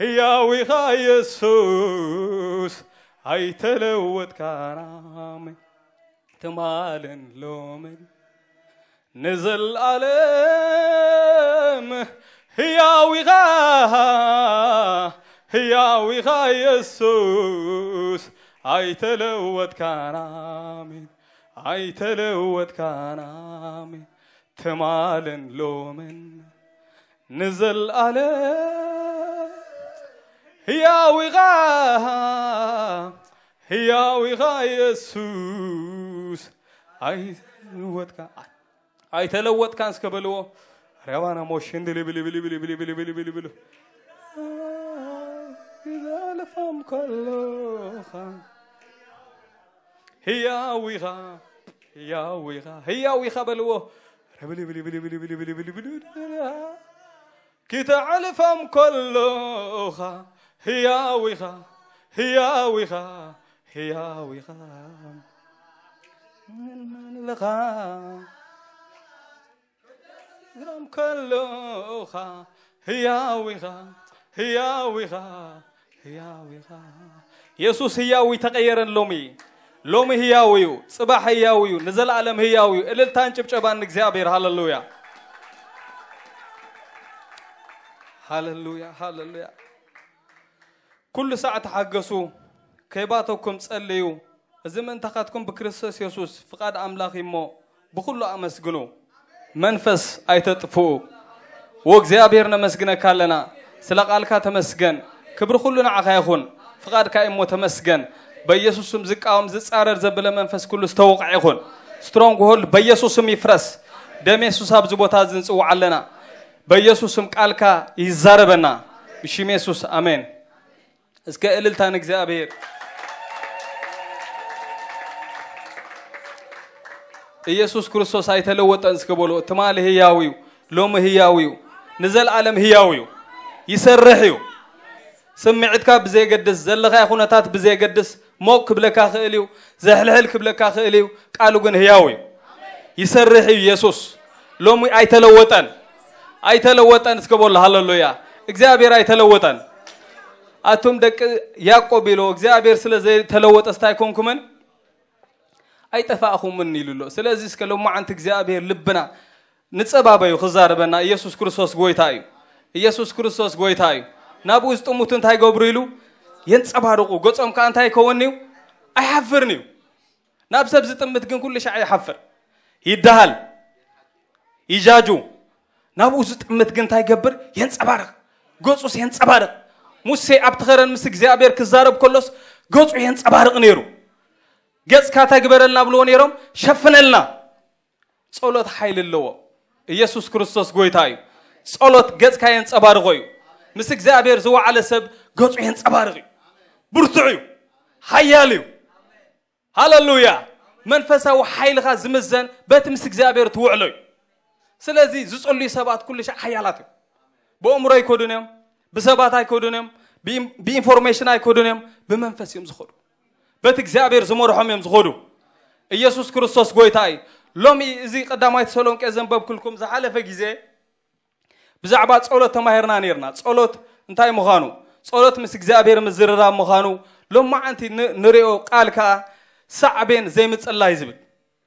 ህያው ኢኻ ኢየሱስ ኣይተለወጥካን ኣሜን ትማልን ሎምን ንዘለኣለም ህያው ኢኻ ህያው ኢኻ ኢየሱስ ኣይተለወጥካን ኣሜን ኣይተለወጥካን ኣሜን ትማልን ሎምን ንዘለኣለም ህያው ኢኻ ህያው ኢኻ ኢየሱስ ኣይተለወጥካ ኣይተለወጥካን እስከ በልዎ ረባና ሞሽን ድልብልብልብልብልብልብልብልብሉ ይዛለፋም ከሎኻ ህያው ኢኻ ህያው ኢኻ ህያው ኢኻ በልዎ ረብልብልብልብልብልብልብልብሉ ክተዕልፋም ከሎኻ ህያው ኢኻ ህያው ኢኻ ህያው ኢኻ ንለኻ ግራም ከሎኻ ህያው ኢኻ ህያው ኢኻ ህያው ኢኻ የሱስ ህያው ተቀየረን ሎሚ ሎሚ ህያው እዩ ጽባሕ ህያው እዩ ንዘለኣለም ህያው እዩ እልልታን ጭብጨባን ንእግዚኣብሔር ሃለሉያ ሃለሉያ ሃለሉያ ኩሉ ሳዕ ተሓገሱ ከይባተኩም ጸልዩ እዚ ምእንታኻትኩም ብክርስቶስ የሱስ ፍቓድ ኣምላኽ እዩ እሞ ብኹሉ ኣመስግኑ መንፈስ ኣይተጥፍኡ ወእግዚኣብሔር ነመስግነካ ኣለና ስለ ቃልካ ተመስገን ክብሪ ኩሉ ንዓኻ ይኹን ፍቓድካ እዩ እሞ ተመስገን በኢየሱስ ስም ዝቃወም ዝጻረር ዘብለ መንፈስ ኩሉ ዝተወቕዐ ይኹን ስትሮንግ ሆልድ በኢየሱስ ስም ይፍረስ ደም የሱስ ኣብዚ ቦታ እዚ ንጽውዓ ኣለና በኢየሱስ ስም ቃልካ ይዛረበና ብሽም የሱስ ኣሜን እስከ እልልታ ንእግዚኣብሔር ኢየሱስ ክርስቶስ ኣይተለወጠን እስከ በሎ ትማሊ ህያው እዩ ሎሚ ህያው እዩ ንዘለኣለም ህያው እዩ ይሰርሕ እዩ ስምዒትካ ብዘየገድስ ዘለኻዮ ኩነታት ብዘየገድስ ሞቅ ክብለካ ክእል እዩ ዘሕልሕል ክብለካ ክእል እዩ ቃሉ ግን ህያው እዩ ይሰርሕ እዩ ኢየሱስ ሎሚ ኣይተለወጠን ኣይተለወጠን እስከ በሎ ሃለሉያ እግዚኣብሔር ኣይተለወጠን ኣቱም ደቂ ያዕቆብ ኢሎ እግዚኣብሔር ስለ ዘይተለወጠ ስታይ ኮንኩምን ኣይጠፋእኹምን ኢሉ ኣሎ ስለዚ እስከ ሎማዓንቲ እግዚኣብሔር ልብና ንጸባበዩ ክዛረበና ኢየሱስ ክርስቶስ ጎይታ እዩ ኢየሱስ ክርስቶስ ጎይታ እዩ ናብኡ ዝጥሙቱ እንታይ ገብሩ ኢሉ የንጸባርቑ ገጾም ከዓ እንታይ ይከውን እዩ ኣይሓፍርን እዩ ናብ ሰብ ዝጥምት ግን ኩሉ ሻዕ ይሓፍር ይደሃል ይጃጁ ናብኡ ዝጥምት ግን እንታይ ይገብር የንጸባርቕ ገጹስ የንጸባርቕ ሙሴ ኣብቲ ኸረን ምስ እግዚኣብሔር ክዛረብ ከሎስ ገጹ የንጸባርቕ ነይሩ ገጽካ እንታይ ግበረልና ብልዎ ነይሮም ሸፍነልና ጸሎት ሓይሊ ኣለዎ ኢየሱስ ክርስቶስ ጎይታ እዩ ጸሎት ገጽካ የንጸባርቖ እዩ ምስ እግዚኣብሔር ዝወዓለ ሰብ ገጹ የንጸባርቕ እዩ ብርቱዕ እዩ ሓያል እዩ ሃለሉያ መንፈሳዊ ሓይልኻ ዝምዘን በቲ ምስ እግዚኣብሔር ትውዕሎ እዩ ስለዚ ዝጸልዩ ሰባት ኩሉ ሻዕ ሓያላት እዮም ብእምሮ ኣይኮዱን እዮም ብሰባት ኣይኮዱን እዮም ብኢንፎርሜሽን ኣይኮዱን እዮም ብመንፈስ እዮም ዝኸዱ በቲ እግዚኣብሔር ዝመርሖም እዮም ዝኸዱ ኢየሱስ ክርስቶስ ጎይታ እዩ ሎሚ እዚ ቀዳማይ ተሰሎንቄ ዘንበብኩልኩም ዝሓለፈ ግዜ ብዛዕባ ጸሎት ተማሂርና ነርና ጸሎት እንታይ ምዃኑ ጸሎት ምስ እግዚኣብሔር ምዝርራብ ምዃኑ ሎማዓንቲ ንሪኦ ቃል ከዓ ሳዕቤን ዘይምጽላይ ዝብል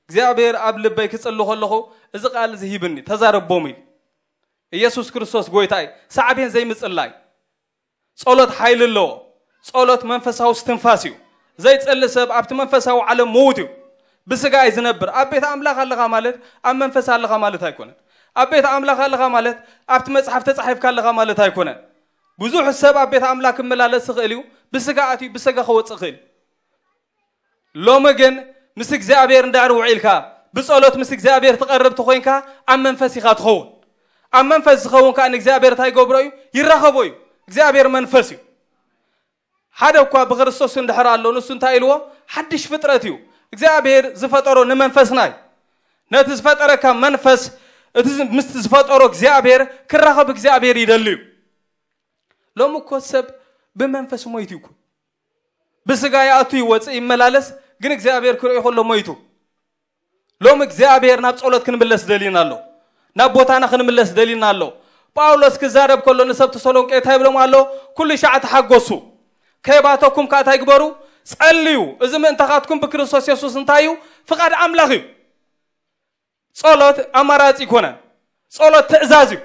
እግዚኣብሔር ኣብ ልበይ ክጽሊ ከለኹ እዚ ቃል እዚ ሂብኒ ተዛረቦም ኢሉ ኢየሱስ ክርስቶስ ጎይታ እዩ ሳዕቤን ዘይምጽላይ ጸሎት ሓይሊ ኣለዎ ጸሎት መንፈሳዊ ስትንፋስ እዩ ዘይጸሊ ሰብ ኣብቲ መንፈሳዊ ዓለም ምዉት እዩ ብስጋ እዩ ዝነብር ኣብ ቤት ኣምላኽ ኣለኻ ማለት ኣብ መንፈስ ኣለኻ ማለት ኣይኮነን ኣብ ቤት ኣምላኽ ኣለኻ ማለት ኣብቲ መጽሓፍ ተጻሒፍካ ኣለኻ ማለት ኣይኮነን ብዙሕ ሰብ ኣብ ቤት ኣምላኽ ክመላለስ ይኽእል እዩ። ብስጋ ኣትዩ ብስጋ ክወፅእ ይኽእል እዩ። ሎሚ ግን ምስ እግዚኣብሔር እንድሕር ውዒልካ፣ ብጸሎት ምስ እግዚኣብሔር ትቐርብ ተኾይንካ፣ ኣብ መንፈስ ኢኻ ትኸውን። ኣብ መንፈስ ዝኸውን ከኣ ንእግዚኣብሔር እንታይ ይገብሮ እዩ? ይራኸቦ እዩ። እግዚኣብሔር መንፈስ እዩ። ሓደ እኳ ብክርስቶስ እንድሕር ኣሎ፣ ንሱ እንታይ ኢልዎ? ሓድሽ ፍጥረት እዩ። እግዚኣብሔር ዝፈጠሮ ንመንፈስና እዩ። ነቲ ዝፈጠረካ መንፈስ፣ እቲ ዝ-፣ ምስ ዝፈጠሮ እግዚኣብሔር ክራኸብ እግዚኣብሔር ይደሊ እዩ። ሎሚ እኮ ሰብ ብመንፈስ ሞይቱ ይኩን። ብስጋ ይኣቱ ይወፅእ ይመላለስ፣ ግን እግዚኣብሔር ክርእዮ ከሎ ሞይቱ። ሎም እግዚኣብሔር ናብ ጸሎት ክንምለስ ደሊና ኣሎ። ናብ ቦታና ክንምለስ ደሊና ኣሎ። ጳውሎስ ክዛረብ ከሎ ንሰብ ተሰሎንቄ እንታይ ይብሎም ኣሎ? ኩሉ ሻዕ ተሓጎሱ። ከይባተኩም ከኣ እንታይ ግበሩ? ጸልዩ። እዚ ምእንታኻትኩም ብክርስቶስ የሱስ እንታይ እዩ? ፍቓድ ኣምላኽ እዩ። ጸሎት ኣማራጺ ይኮነን። ጸሎት ትእዛዝ እዩ።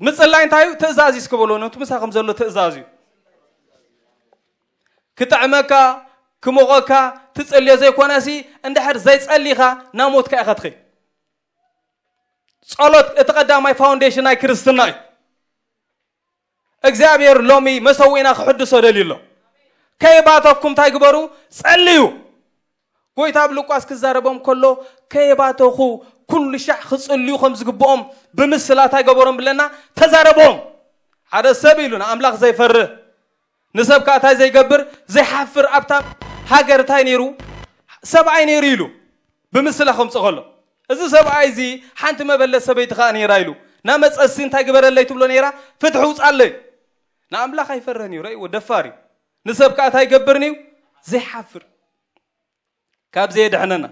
ምጽላይ እንታይ እዩ? ትእዛዝ እዩ። እስኪ በሎ፣ ነቲ ምሳኹም ዘሎ ትእዛዝ እዩ። ክጥዕመካ፣ ክሞቐካ፣ ትጽልዮ ዘይኮነሲ፣ እንድሕር ዘይጸሊኻ፣ ናብ ሞትካ ኢኻ ትኸይድ። ጸሎት እቲ ቀዳማይ ፋውንዴሽን ናይ ክርስትና እዩ። እግዚኣብሔር ሎሚ መሰዊእና ክሕድሶ ደልዩ ኣሎ። ከይባተኩም እንታይ ግበሩ? ጸልዩ። ጎይታ ኣብ ሉቃስ ክዛረቦም ከሎ፣ ከየባተኹ ኩሉ ሻዕ ክጽልዩ ከም ዝግብኦም ብምስላ እንታይ ገበሮም ብለና? ተዛረቦም። ሓደ ሰብ ኢሉ ንኣምላኽ ዘይፈርህ፣ ንሰብ ከኣ እንታይ ዘይገብር? ዘይሓፍር። ኣብታ ሃገር እንታይ ነይሩ? ሰብኣይ ነይሩ ኢሉ ብምስላ ከምጽእ ከሎ፣ እዚ ሰብኣይ እዚ ሓንቲ መበለት ሰበይቲ ከኣ ነይራ ኢሉ ናመጸሲ እንታይ ግበረለይ ትብሎ ነይራ? ፍትሒ ውጻለይ። ንኣምላኽ ኣይፈርህን እዩ። ረእይዎ፣ ደፋር እዩ። ንሰብ ከኣ እንታይ ይገብርን እዩ? ዘይሓፍር። ካብ ዘየድሕነና።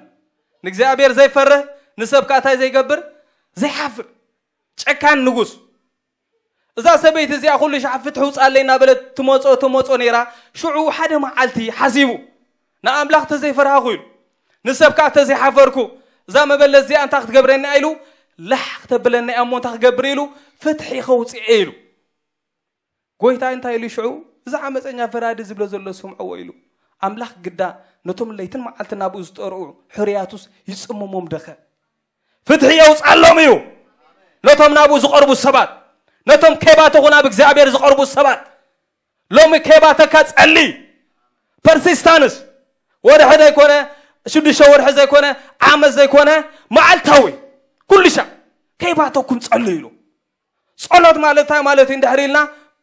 ንእግዚኣብሔር ዘይፈርህ፣ ንሰብ ከኣ እንታይ ዘይገብር? ዘይሓፍር። ጨካን ንጉስ። እዛ ሰበይቲ እዚኣ ኩሉ ሻዕ ፍትሒ ውጻለይ እናበለት ትመጾ፣ ትመጾ ነይራ። ሽዑ ሓደ መዓልቲ ሓሲቡ፣ ንኣምላኽ ተዘይፈርሃኹ ኢሉ፣ ንሰብ ከኣ ተዘይሓፈርኩ፣ እዛ መበለት እዚኣ እንታይ ክትገብረኒ ኢሉ፣ ላሕ ክተብለኒ እያ እሞ እንታይ ክገብር ኢሉ፣ ፍትሒ ከውጽኤ ኢሉ። ጎይታ እንታይ ኢሉ ሽዑ? እዚ ዓመፀኛ ፈራዲ ዝብሎ ዘሎ ስምዕዎ ኢሉ። ኣምላኽ ግዳ ነቶም ለይትን መዓልትን ናብኡ ዝጠርዑ ሕርያቱስ ይጽምሞም ደኸ? ፍትሒ የውጻሎም እዩ። ነቶም ናብኡ ዝቐርቡ ሰባት፣ ነቶም ከይባተኹ ናብ እግዚኣብሔር ዝቐርቡ ሰባት፣ ሎሚ ከይባተካ ጸሊ። ፐርሲስታንስ፣ ወርሒ ዘይኮነ፣ ሽዱሽተ ወርሒ ዘይኮነ፣ ዓመት ዘይኮነ፣ መዓልታዊ፣ ኩሉ ሻዕ ከይባተኩም ጸልዩ ኢሉ። ጸሎት ማለት እንታይ ማለት እዩ እንድሕር ኢልና፣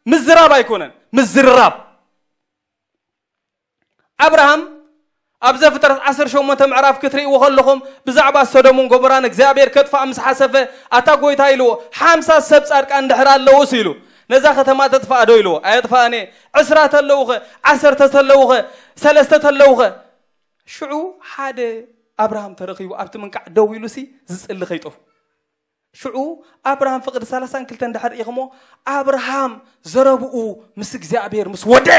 ምዝራብ ኣይኮነን፣ ምዝርራብ። ኣብርሃም ኣብ ዘፍጥረት ዓሰርተ ሸሞንተ ምዕራፍ ክትርእይዎ ከለኹም፣ ብዛዕባ ሶዶምን ጎሞራን እግዚኣብሔር ከጥፍኣ ምስ ሓሰፈ፣ ኣታ ጎይታ ኢልዎ፣ ሓምሳ ሰብ ጻድቃን እንድሕር ኣለዉስ ኢሉ፣ ነዛ ከተማ ተጥፍኣ ዶ ኢልዎ፣ ኣየጥፍኣን እየ። ዕስራ ተለዉኸ፣ ዓሰርተ ተለዉኸ፣ ሰለስተ ተለዉኸ? ሽዑ ሓደ ኣብርሃም ተረኺቡ ኣብቲ ምንቃዕ ደው ኢሉሲ ዝጽሊ ከይጠፉ። ሽዑ ኣብርሃም ፍቕዲ ሰላሳን ክልተን እንድሕር ኢኹሞ፣ ኣብርሃም ዘረብኡ ምስ እግዚኣብሔር ምስ ወደ፣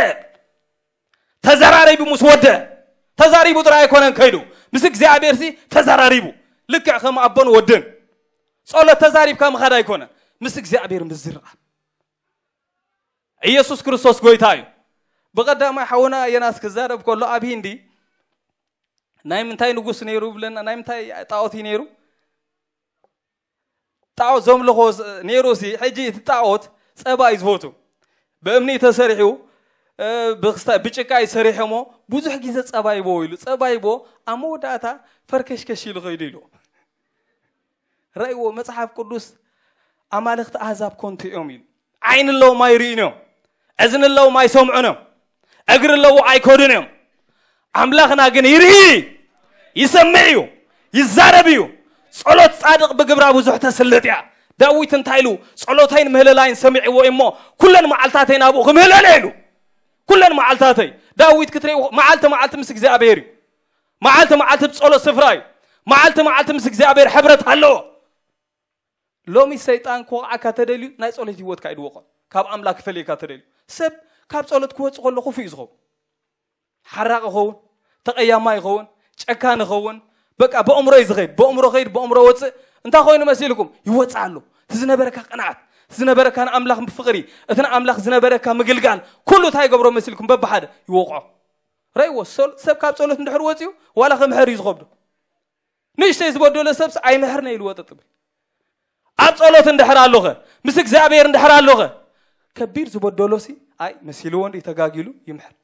ተዘራሪቡ ምስ ወደ፣ ተዛሪቡ ጥራይ ኣይኮነን ከይዱ፣ ምስ እግዚኣብሔርሲ ተዘራሪቡ። ልክዕ ከም ኣቦን ወድን ጸሎት ተዛሪብካ ምኻድ ኣይኮነን፣ ምስ እግዚኣብሔር ምዝርራብ። ኢየሱስ ክርስቶስ ጎይታ እዩ። ብቐዳማይ ሓውና የናስ ክዛረብ ከሎ ኣብ ሂንዲ ናይ ምንታይ ንጉስ ነይሩ ብለና፣ ናይ ምንታይ ጣዖት እዩ ነይሩ? ጣዖት ዘምልኾ ስ-፣ ነይሩ ሲ፣ ሕጂ እቲ ጣዖት ጸባ እዩ ዝፈቱ። ብእምኒ ተሰሪሑ፣ እ፣ ብክስታ-፣ ብጭቃ እዩ ሰሪሑ እሞ ብዙሕ ግዜ ጸባ ይቦ ኢሉ። ጸባ ይቦ፣ ኣብ መወዳእታ ፈርከሽከሽ ኢሉ ኸይዱ ኢሉ። ረእይዎ፣ መጽሓፍ ቅዱስ ኣማልኽቲ ኣህዛብ ኮንቱ እዮም ኢሉ። ዓይኒ ኣለዎም ኣይርእዩን እዮም። እዝኒ ኣለዎም ኣይሰምዑን እዮም። እግሪ ኣለዎ ኣይከዱን እዮም። ኣምላኽና ግን ይርኢ፣ ይሰምዕ እዩ፣ ይዛረብ እዩ። ጸሎት ጻድቕ ብግብራ ብዙሕ ተስልጥ እያ። ዳዊት እንታይ ኢሉ? ጸሎተይን ምህለላይን ሰሚዕዎ እሞ ኩለን መዓልታተይ ናብኡ ክምህለል እየ ኢሉ። ኩለን መዓልታተይ። ዳዊት ክትርእይዎ መዓልቲ መዓልቲ ምስ እግዚኣብሔር እዩ። መዓልቲ መዓልቲ ብጸሎት ስፍራ እዩ። መዓልቲ መዓልቲ ምስ እግዚኣብሔር ሕብረት ኣለዎ። ሎሚ ሰይጣን ክወቕዓካ ተደልዩ ናይ ጸሎት ህይወትካ እዩ ድወቖ። ካብ ኣምላኽ ክፈልየካ ተደልዩ። ሰብ ካብ ጸሎት ክወጽእ ከሎ ክፉእ እዩ ዝኸውን። ሓራቕ ይኸውን፣ ተቐያማይ ይኸውን፣ ጨካን ይኸውን። በቃ ብእምሮ እዩ ዝኸይድ። ብእምሮ ኸይድ፣ ብእምሮ ወጽእ። እንታይ ኮይኑ መሲልኩም? ይወጽእ ኣሎ። እቲ ዝነበረካ ቅንዓት፣ እቲ ዝነበረካ ንኣምላኽ ፍቕሪ፣ እቲ ንኣምላኽ ዝነበረካ ምግልጋል፣ ኩሉ እንታይ ይገብሮ መሲልኩም? በብሓደ ይወቕዖ። ረእይዎ፣ ሶል-፣ ሰብ ካብ ጸሎት እንድሕር ወጽዩ፣ ዋላ ክምሕር እዩ ዝኸብዶ። ንእሽተይ ዝበደሎ ሰብስ ኣይምሕርነ ኢሉ ወጠጥ ብል። ኣብ ጸሎት እንድሕር ኣሎኸ፣ ምስ እግዚኣብሔር እንድሕር ኣሎኸ፣ ከቢድ ዝበደሎ ሲ ኣይ መሲልዎ እንዲ ተጋጊሉ ይምሕር።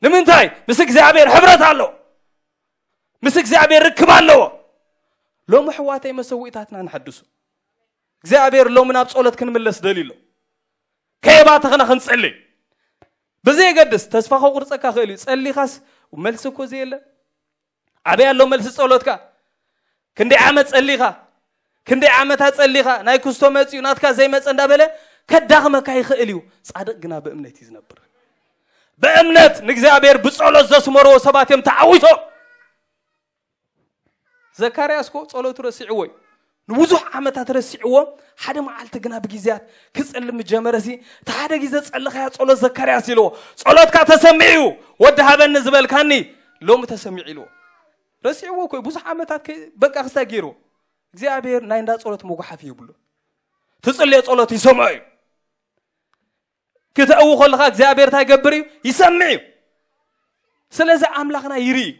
ንምንታይ? ምስ እግዚኣብሔር ሕብረት ኣለዎ። ምስ እግዚኣብሔር ርክብ ኣለዎ። ሎሚ ኣሕዋተይ መሰዊእታትና ንሐድሱ። እግዚኣብሔር ሎሚ ናብ ጸሎት ክንምለስ ደልዩ ኣሎ። ከየባተኽና ክንጸሊ። ብዘየገድስ ተስፋ ከቁርጸካ ክእል እዩ። ጸሊኻስ መልሲ እኮ ዘየለ። ኣበይ ኣሎ መልሲ ጸሎትካ? ክንደይ ዓመት ጸሊኻ? ክንደይ ዓመታት ጸሊኻ? ናይ ክስቶ መጽዩ ናትካ ዘይመጸ እንዳበለ ከዳኽመካ ይኽእል እዩ። ጻድቕ ግና ብእምነት እዩ ዝነብር። ብእምነት ንእግዚኣብሔር ብጸሎት ዘስመርዎ ሰባት እዮም ተዓዊቶም። ዘካርያስ እኮ ጸሎቱ ረሲዕዎ እዩ። ንብዙሕ ዓመታት ረሲዕዎ፣ ሓደ መዓልቲ ግና ብግዜያት ክጽልም ጀመረ። ሲ እቲ ሓደ ግዜ ጸለኻያ ጸሎት ዘካርያስ ኢልዎ፣ ጸሎትካ ተሰሚዑ እዩ፣ ወዲ ሃበኒ ዝበልካኒ ሎሚ ተሰሚዑ ኢልዎ። ረሲዕዎ እኮ እዩ፣ ብዙሕ ዓመታት ከ-፣ በቃ ክስታይ ገይርዎ። እግዚኣብሔር ናይ እንዳ ጸሎት መጉሓፍ ይብሉ። ትጽልዮ ጸሎት ይሰምዖ እዩ። ክተእዊ ከለኻ እግዚኣብሔር እንታይ ይገብር እዩ? ይሰምዕ እዩ። ስለዚ ኣምላኽና ይርኢ እዩ፣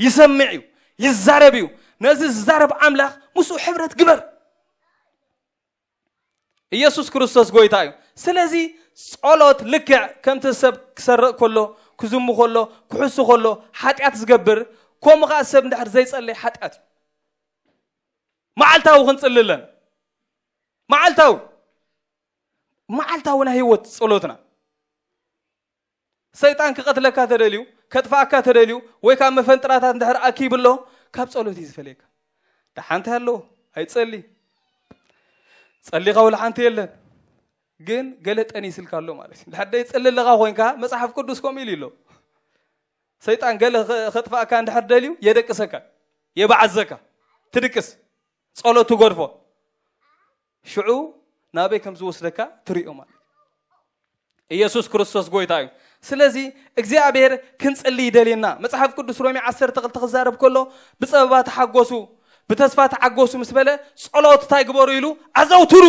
ይሰምዕ እዩ፣ ይዛረብ እዩ። ነዚ ዝዛረብ ኣምላኽ ምስኡ ሕብረት ግበር። ኢየሱስ ክርስቶስ ጎይታ እዩ። ስለዚ ጸሎት ልክዕ ከምቲ ሰብ ክሰርቕ ከሎ፣ ክዝሙ ከሎ፣ ክሕሱ ከሎ፣ ሓጢኣት ዝገብር፣ ከምኡ ኸዓ ሰብ እንድሕር ዘይጸለይ ሓጢኣት እዩ። መዓልታዊ ክንጽሊ ኣለና። መዓልታዊ፣ መዓልታዊ ናይ ህይወት ጸሎትና። ሰይጣን ክቐትለካ ተደልዩ፣ ከጥፍኣካ ተደልዩ፣ ወይ ካብ መፈንጥራታት እንድሕር ኣኪቡ ኣሎ፣ ካብ ጸሎት እዩ ዝፈልየካ። ደሓን እንታይ ኣለዎ? ኣይጸሊ። ጸሊኻ ወላ ሓንቲ የለን። ግን ገለ ጠኒስልካ ኣሎ ማለት እዩ። ድሕር ደይጸሊ ኣለኻ ኮይንካ፣ መጽሓፍ ቅዱስ ከምኡ ኢሉ ኣሎ። ሰይጣን ገለ ኸ-፣ ኸጥፍኣካ እንድሕር ደልዩ፣ የደቅሰካ፣ የባዕዘካ፣ ትድቅስ፣ ጸሎት ትገድፎ። ሽዑ ናበይ ከም ዝወስደካ ትርእዮ ማለት እዩ። ኢየሱስ ክርስቶስ ጎይታ እዩ። ስለዚ እግዚኣብሔር ክንጽሊ ይደልየና። መጽሓፍ ቅዱስ ሮሜ ዓሰርተ ክልተ ክዛረብ ከሎ፣ "ብጸበባ ተሓጎሱ፣ ብተስፋ ተሓጎሱ" ምስ በለ፣ ጸሎት እንታይ ግበሩ ኢሉ? ኣዘውትሩ።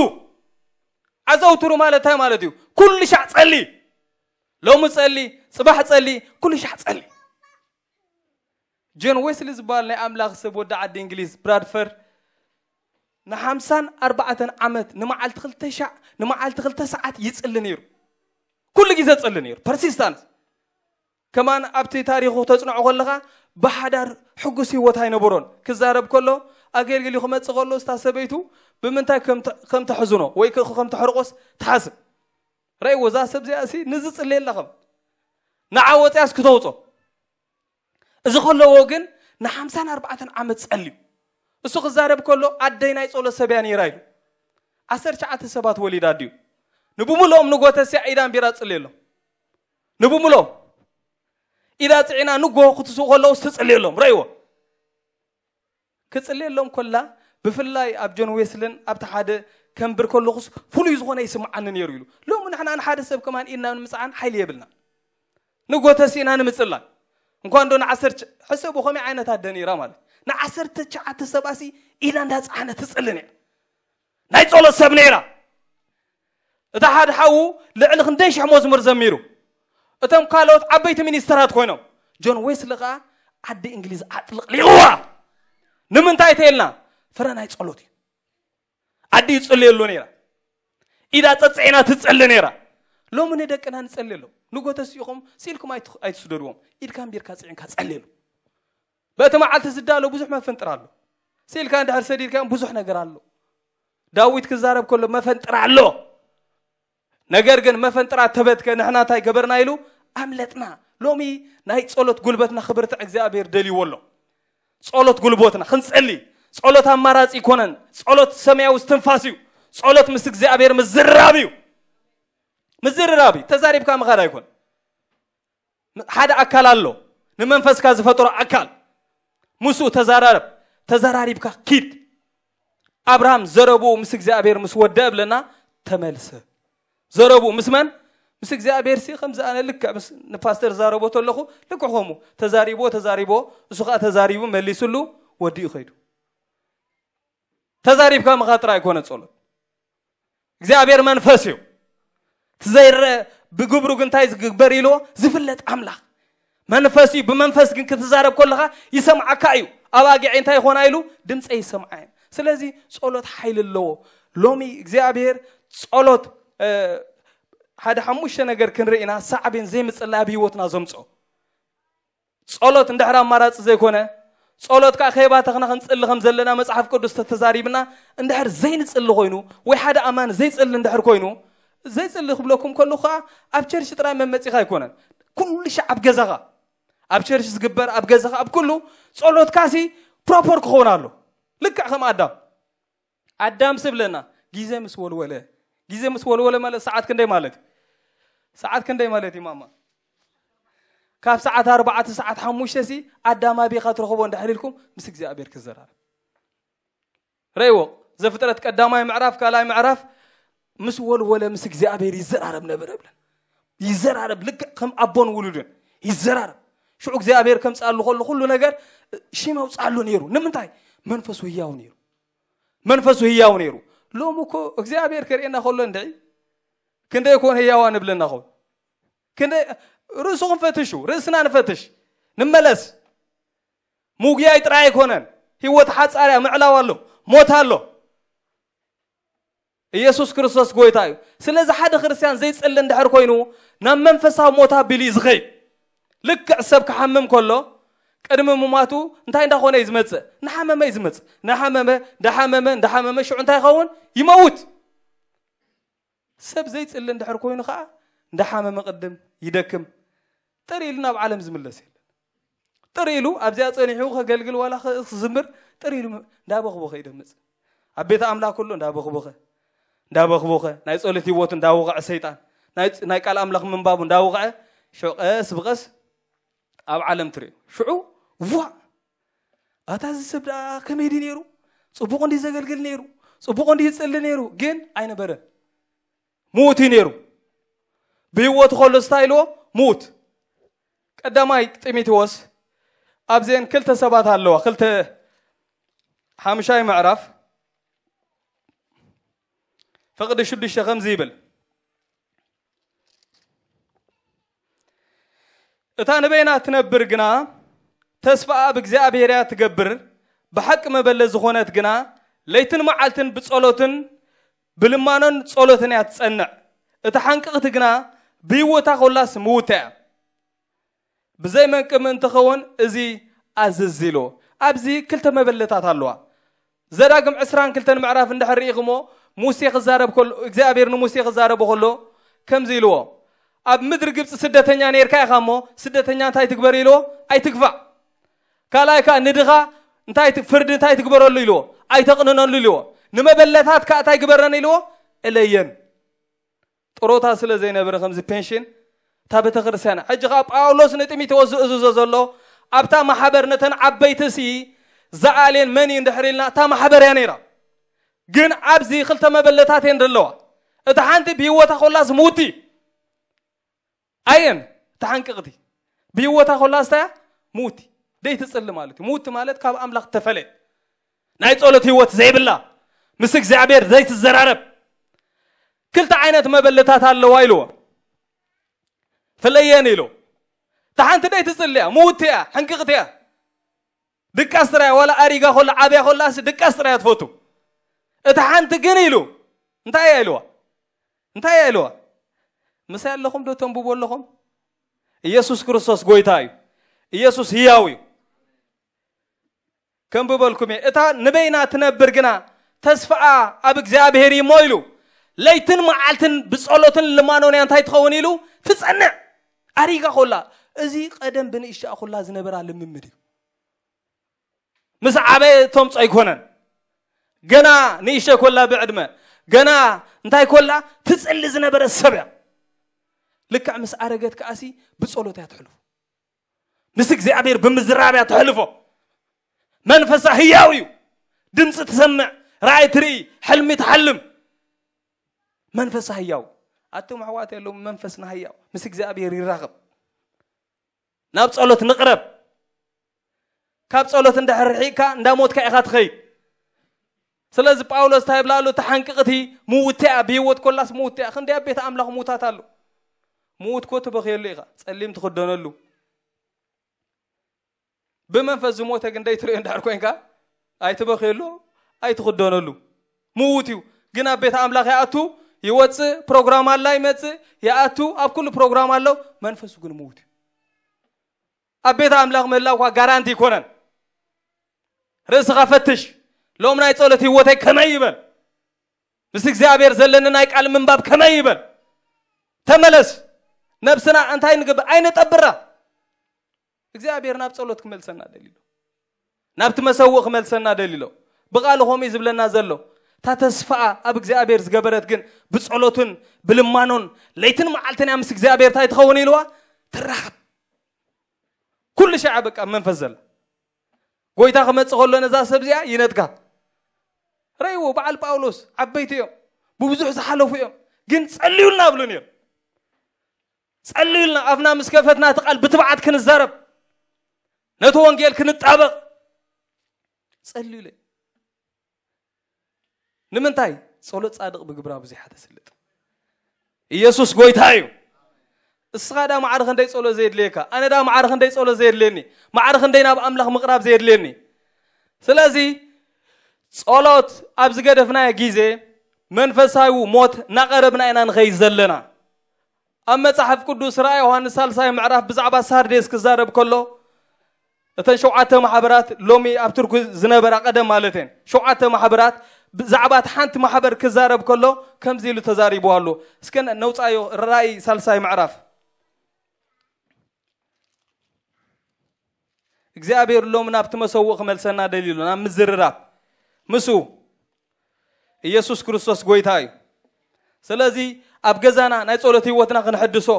ኣዘውትሩ ማለት እንታይ ማለት እዩ? ኩሉ ሻዕ ጸሊ። ሎሚ ጸሊ፣ ጽባሕ ጸሊ፣ ኩሉ ሻዕ ጸሊ። ጆን ዌስሊ ዝበሃል ናይ ኣምላኽ ሰብ ወዲ ዓዲ እንግሊዝ ብራድፈርድ ንሓምሳን ኣርባዕተን ዓመት ንመዓልቲ ክልተ ሻዕ፣ ንመዓልቲ ክልተ ሰዓት ይጽሊ ነይሩ። ኩሉ ግዜ ጸሊ ነይሩ። ፐርሲስታንስ። ከማን ኣብቲ ታሪኹ ተጽንዖ ከለኻ ብሓዳር ሕጉስ ህይወት ኣይነበሮን። ክዛረብ ከሎ ኣገልግሊ ክመጽእ ከሎ እታ ሰበይቱ ብምንታይ ከም ተ-፣ ከም ተሕዝኖ ወይ ከ-፣ ከም ተሕርቆስ ትሓስብ። ረእይዎ፣ እዛ ሰብ እዚኣ ሲ ንዝጽልየላ ከም ንዓ ወጽያስ ክተውጾ። እዚ ከለዎ ግን ንሓምሳን ኣርባዕተን ዓመት ጸልዩ። እሱ ክዛረብ ከሎ ኣደይ ናይ ጸሎት ሰብ እያ ነይራ ኢሉ። ዓሰርተ ትሽዓተ ሰባት ወሊዳ ድዩ? ንብምልኦም ንጎተስያ ኢዳ ኣንቢራ ትጽልየሎም። ንብምልኦም ኢዳ ጽዒና ንጎ ክትስኡ ከለውስ ትጽልየሎም። ረእይዎ። ክጽልየሎም ኮላ ብፍላይ ኣብ ጆን ዌስልን ኣብቲ ሓደ ከንብር ከለኹስ ፍሉይ ዝኾነ ይስምዓኒ ነይሩ ኢሉ። ሎሚ ንሕና ንሓደ ሰብ ከማን ኢድና ንምጽዓን ሓይሊ የብልና። ንጎተሲ ኢና ንምጽላይ። እንኳን ዶ ንዓሰርተ ሕሰቡ ከመይ ዓይነት ኣደ ነይራ ማለት። ንዓሰርተ ትሽዓተ ሰባሲ ኢዳ እንዳጽዓነ ትጽሊ ነይራ። ናይ ጸሎት ሰብ ነይራ። እታ ሓደ ሓዉ ልዕሊ ክንደይ ሽሕ መዝሙር ዘሚሩ። እቶም ካልኦት ዓበይቲ ሚኒስተራት ኮይኖም። ጆን ዌስሊ ኸኣ ዓዲ እንግሊዝ ኣጥልቕሊቕዋ። ንምንታይ ተይልና? ፍረ ናይ ጸሎት እዩ። ኣዲ ይጽልየሉ ነይራ። ኢዳ ጸጽዒና ትጸሊ ነይራ። ሎሚ ንደቅና ንጸልየሎም። ንጎተሲኹም ሲልኩም ኣይት-፣ ኣይትስደድዎም። ኢድካ ኣንቢርካ ጽዒንካ ጸልየሉ። በቲ መዓልቲ ዝዳሎ ብዙሕ መፈንጥር ኣሎ። ሲልካ እንድሕር ሰዲድካዮም ብዙሕ ነገር ኣሎ። ዳዊት ክዛረብ ከሎ መፈንጥር ኣሎ። ነገር ግን መፈንጥራት ተበትከ፣ ንሕና እንታይ ገበርና ኢሉ ኣምለጥና። ሎሚ ናይ ጸሎት ጉልበትና ክብርትዕ እግዚኣብሔር ደልይዎ ኣሎ። ጸሎት ጉልበትና ክንጸሊ፣ ጸሎት ኣማራጺ ይኮነን። ጸሎት ሰማያዊ እስትንፋስ እዩ። ጸሎት ምስ እግዚኣብሔር ምዝርራብ እዩ። ምዝርራብ እዩ። ተዛሪብካ ምኻድ ኣይኮን። ሓደ ኣካል ኣሎ፣ ንመንፈስካ ዝፈጠሮ ኣካል። ምስኡ ተዛራረብ፣ ተዘራሪብካ ኪድ። ኣብርሃም ዘረብኡ ምስ እግዚኣብሔር ምስ ወደአ ብለና ተመልሰ። ዘረብኡ ምስ መን? ምስ እግዚኣብሔር ሲ ከምዚ ኣነ ልክዕ ምስ ንፓስተር ዛረቦ ተለኹ ልክዕ ከምኡ ተዛሪብዎ፣ ተዛሪብዎ፣ እሱ ኸኣ ተዛሪቡ መሊስሉ ወዲኡ ኸይዱ። ተዛሪብካ ምኻድ ጥራይ ኣይኮነ ጸሎት። እግዚኣብሔር መንፈስ እዩ። እቲ ዘይረአ ብግብሩ ግን እንታይ ዝግበር ኢልዎ? ዝፍለጥ ኣምላኽ። መንፈስ እዩ። ብመንፈስ ግን ክትዛረብ ከለኻ ይሰምዓካ እዩ። ኣባጊዐይ እንታይ ይኾና ኢሉ? ድምፀይ ይሰምዓ እየን። ስለዚ ጸሎት ሓይሊ ኣለዎ። ሎሚ እግዚኣብሔር ጸሎት፣ እ፣ ሓደ ሓሙሽተ ነገር ክንርኢ ኢና፣ ሳዕቤን ዘይምጽላይ ኣብ ህይወትና ዘምጽኦ። ጸሎት እንድሕር ኣማራጺ ዘይኮነ፣ ጸሎት ከዓ ከይባተኽና ክንጽሊ ከም ዘለና መጽሓፍ ቅዱስ ተተዛሪብና፣ እንድሕር ዘይንጽሊ ኮይኑ፣ ወይ ሓደ ኣማኒ ዘይጽሊ እንድሕር ኮይኑ፣ ዘይጽሊ ክብለኩም ከለኹ ከዓ ኣብ ቸርች ጥራይ መመጺኻ ኣይኮነን። ኩሉ ሻዕ ኣብ ገዛኻ፣ ኣብ ቸርች ዝግበር፣ ኣብ ገዛኻ፣ ኣብ ኩሉ ጸሎትካሲ ፕሮፖር ክኸውን ኣሎ። ልክዕ ከም ኣዳም። ኣዳም ስብለና፣ ግዜ ምስ ወልወለ፣ ግዜ ምስ ወልወለ ማለት ሰዓት ክንደይ ማለት እዩ? ሰዓት ክንደይ ማለት እዩ ማማ? ካብ ሰዓት ኣርባዕተ፣ ሰዓት ሓሙሽተ ሲ ኣዳም ኣበይ ኢኻ ትረኽቦ እንድሕር ኢልኩም፣ ምስ እግዚኣብሔር ክዘራረብ። ረእይዎ፣ ዘፍጥረት ቀዳማይ ምዕራፍ፣ ካልኣይ ምዕራፍ፣ ምስ ወልወለ ምስ እግዚኣብሔር ይዘራረብ ነበረ ብለን። ይዘራረብ፣ ልክዕ ከም ኣቦን ውሉድን ይዘራረብ። ሽዑ እግዚኣብሔር ከምጽኣሉ ከሎ ኩሉ ነገር ሽም ኣውጽኣሉ ነይሩ። ንምንታይ? መንፈሱ ህያው ነይሩ። መንፈሱ ህያው ነይሩ። ሎም እኮ እግዚኣብሔር ከርእየና ከሎ እንድዒ ክንደይ ኮን ህያዋ ንብለና ኾን? ክንደይ? ርእስኹም ፈትሹ፣ ርእስና ንፈትሽ፣ ንመለስ። ምጉያይ ጥራይ ኣይኮነን። ህይወት ሓጻርያ ምዕላው ኣሎ፣ ሞት ኣሎ። ኢየሱስ ክርስቶስ ጎይታ እዩ። ስለዚ ሓደ ክርስትያን ዘይጽሊ እንድሕር ኮይኑ፣ ናብ መንፈሳዊ ሞት ኣቢሉ እዩ ዝኸይድ። ልክዕ ሰብ ክሓምም ከሎ፣ ቅድሚ ምማቱ እንታይ እንዳኾነ እዩ ዝመጽእ? እናሓመመ እዩ ዝመጽእ። እናሓመመ፣ እንዳሓመመ፣ እንዳሓመመ፣ ሽዑ እንታይ ይኸውን? ይመውት። ሰብ ዘይጽሊ እንድሕር ኮይኑ ኸዓ፣ እንዳሓመመ ቅድም ይደክም። ጥር ኢሉ ናብ ዓለም ዝምለስ የለን። ጥር ኢሉ ኣብዚኣ ጸኒሑ ከገልግል ዋላ ከ-፣ ክዝምር ጥር ኢሉ ም-፣ እንዳበኽበኸ ይደምጽ። ኣብ ቤት ኣምላኽ ኩሉ እንዳበኽበኸ፣ እንዳበኽበኸ፣ ናይ ጸሎት ህይወቱ እንዳወቕዐ ሰይጣን፣ ናይ ጽ-፣ ናይ ቃል ኣምላኽ ምንባቡ እንዳወቕዐ፣ ሽዑ ቀስ ብቐስ ኣብ ዓለም ትርእዮ። ሽዑ፣ ዋ! ኣታ እዚ ሰብ ደኣ ከመይ ድዩ ነይሩ? ጽቡቕ እንድዩ ዘገልግል ነይሩ? ጽቡቕ እንድዩ ይጽሊ ነይሩ? ግን ኣይነበረን። ምዉት እዩ ነይሩ። ብህይወቱ ከሎ እንታይ ኢልዎ? ምዉት። ቀዳማይ ጢሞቴዎስ ኣብዘን ክልተ ሰባት ኣለዋ። ክልተ ሓምሻይ ምዕራፍ ፍቕዲ ሽዱሽተ ከምዚ ይብል። እታ ንበይና ትነብር ግና ተስፋኣ ኣብ እግዚኣብሔር እያ ትገብር። ብሓቂ መበለት ዝኾነት ግና ለይትን መዓልትን ብጸሎትን ብልማኖን ጸሎትን እያ ትጸንዕ። እታ ሓንቅቕቲ ግና ብህይወታ ኮላስ ምውታ እያ። ብዘይ መንቅብ ምእንቲ ኸውን እዚ ኣዝዝ ኢልዎ። ኣብዚ ክልተ መበለታት ኣለዋ። ዘዳግም ዕስራን ክልተን ምዕራፍ እንድሕር ርኢኹሞ፣ ሙሴ ክዛረብ ከሎ፣ እግዚኣብሔር ንሙሴ ክዛረቦ ከሎ ከምዚ ኢልዎ፣ ኣብ ምድሪ ግብፂ ስደተኛ ነይርካ ኢኻ እሞ፣ ስደተኛ እንታይ ትግበር ኢልዎ? ኣይትግፋዕ። ካልኣይ ከዓ ንድኻ እንታይ ት-፣ ፍርዲ እንታይ ትግበረሉ ኢልዎ? ኣይተቕንነሉ ኢልዎ። ንመበለታት ከዓ እንታይ ግበረን ኢልዎ? እለየን። ጥሮታ ስለ ዘይነበረ ከምዚ ፔንሽን እታ ቤተ ክርስቲያን። ሕጂ ኸዓ ጳውሎስ ንጢሞቴዎስ ዝእዝዞ ዘሎ ኣብታ ማሕበር ነተን ዓበይቲ ሲ ዝኣልየን መን እዩ እንድሕር ኢልና እታ ማሕበር እያ ነይራ። ግን ኣብዚ ክልተ መበለታት እየን ዘለዋ። እታ ሓንቲ ብህይወታ ኮላስ ምውቲ ኣየን፣ እታ ሓንቅቕቲ ብህይወታ ኮላስ እንታይ እያ? ምውቲ። ደይ ትጽሊ ማለት እዩ። ምውቲ ማለት ካብ ኣምላኽ ተፈለየት፣ ናይ ጸሎት ህይወት ዘይብላ፣ ምስ እግዚኣብሔር ዘይትዘራረብ። ክልተ ዓይነት መበለታት ኣለዋ ኢልዎ። ፍለየን ኢሉ። እታ ሓንቲ ደይ ትጽሊ እያ፣ ምውቲ እያ፣ ሕንቅቕቲ እያ። ድቃስ ጥራይ፣ ዋላ ኣሪጋ ኮላ ዓብያ ኮላስ ድቃስ ጥራይ እያ ትፈቱ። እታ ሓንቲ ግን ኢሉ እንታይ እያ ኢልዋ? እንታይ እያ ኢልዋ? ምሳይ ኣለኹም ዶ ተንብቡ ኣለኹም? ኢየሱስ ክርስቶስ ጎይታ እዩ። ኢየሱስ ህያው እዩ። ከንብበልኩም እየ። እታ ንበይና ትነብር ግና ተስፋኣ ኣብ እግዚኣብሔር እዩ እሞ ኢሉ። ለይትን መዓልትን ብጸሎትን ልማኖን እያ እንታይ ትኸውን ኢሉ? ትጸንዕ። ኣሪጋ ኮላ። እዚ ቀደም ብንእሽተኣ ኮላ ዝነበራ ልምምድ እዩ። ምስ ዓበየ ተምጾ ኣይኮነን። ገና ንእሽተ ኮላ ብዕድመ፣ ገና እንታይ ኮላ ትጽሊ ዝነበረ ሰብ እያ። ልክዕ ምስ ኣረገት ከኣሲ ብጸሎት እያ ትሕልፎ። ምስ እግዚኣብሔር ብምዝራብ እያ ትሕልፎ። መንፈሳ ህያው እዩ። ድምፂ ትሰምዕ፣ ራእይ ትርኢ፣ ሕልሚ ትሓልም። መንፈሳ ህያው። ኣቱም ኣሕዋት የለውም፣ መንፈስና ህያው። ምስ እግዚኣብሔር ይራኸብ። ናብ ጸሎት ንቕረብ። ካብ ጸሎት እንድሕር ርሒቕካ፣ እንዳ ሞትካ ኢኻ ትኸይድ። ስለዚ ጳውሎስ እንታይ ይብላ ኣሎ? እታ ሓንቅቕቲ ምውቲ እያ፣ ብህይወት ኮላስ ምውቲ እያ። ክንደይ ኣብ ቤት ኣምላኽ ምዉታት ኣሎ። ምዉት ኮ ትበኽየሉ ኢኻ፣ ጸሊም ትኽደነሉ። ብመንፈስ ዝሞተ ግን ደይትርእዮ እንድሕር ኮንካ፣ ኣይትበኽየሉ፣ ኣይትኽደነሉ። ምዉት እዩ፣ ግን ኣብ ቤት ኣምላኽ ይኣቱ፣ ይወፅእ፣ ፕሮግራም ኣላ ይመፅእ፣ ይኣቱ፣ ኣብ ኩሉ ፕሮግራም ኣሎ። መንፈሱ ግን ምዉት እዩ። ኣብ ቤት ኣምላኽ ምህላው እኳ ጋራንቲ ኣይኮነን። ርእስኻ ፈትሽ። ሎም ናይ ጸሎት ህይወተይ ከመይ ይበል? ምስ እግዚኣብሔር ዘለኒ ናይ ቃል ምንባብ ከመይ ይበል? ተመለስ። ነብስና እንታይ ንግብ ኣይነጠብራ። እግዚኣብሔር ናብ ጸሎት ክመልሰና ደሊሎ፣ ናብቲ መሰውእ ክመልሰና ደሊሎ። ብቓሉ ኾሚ ዝብለና ዘሎ እታ ተስፋኣ ኣብ እግዚኣብሔር ዝገበረት ግን ብጸሎትን ብልማኖን ለይትን መዓልትን እያ ምስ እግዚኣብሔር እንታይ ትኸውን ኢልዋ ትራኸብ። ኩሉ ሻዕ በቃ መንፈስ ዘላ ጎይታ ክመጽእ ከሎ ነዛ ሰብ እዚኣ ይነጥጋ። ረይዎ በዓል ጳውሎስ ዓበይቲ እዮም፣ ብብዙሕ ዝሓለፉ እዮም፣ ግን ጸልዩልና ብሉ ነይሩ። ጸልዩልና፣ ኣፍና ምስ ከፈትና እቲ ቃል ብትብዓት ክንዛረብ፣ ነቲ ወንጌል ክንጣበቕ ጸልዩለ። ንምንታይ? ጸሎት ጻድቕ ብግብራ ብዙሕ ተስልጥ። ኢየሱስ ጎይታ እዩ። እስኻ ዳ ማዕረ ክንደይ ጸሎት ዘየድልየካ፣ ኣነ ዳ ማዕረ ክንደይ ጸሎት ዘየድልየኒ፣ ማዕረ ክንደይ ናብ ኣምላኽ ምቕራብ ዘየድልየኒ። ስለዚ ጸሎት ኣብ ዝገደፍናዮ ግዜ መንፈሳዊ ሞት እናቐረብና ኢና ንኸይድ ዘለና። ኣብ መጽሓፍ ቅዱስ ራእይ ዮሃንስ ሳልሳይ ምዕራፍ ብዛዕባ ሳርዴስ ክዛረብ ከሎ፣ እተን ሸውዓተ ማሕበራት ሎሚ ኣብ ቱርኪ ዝነበራ ቀደም ማለት እየን። ሸውዓተ ማሕበራት ብዛዕባ እቲ ሓንቲ ማሕበር ክዛረብ ከሎ ከምዚ ኢሉ ተዛሪቡ ኣሎ። እስከ ነውጻዮ ራእይ ሳልሳይ ምዕራፍ። እግዚኣብሔር ሎም ናብቲ መሰውእ ክመልሰና ደሊሉ ናብ ምዝርራብ ምስኡ ኢየሱስ ክርስቶስ ጎይታ እዩ። ስለዚ ኣብ ገዛና ናይ ጸሎት ህይወትና ክንሕድሶ፣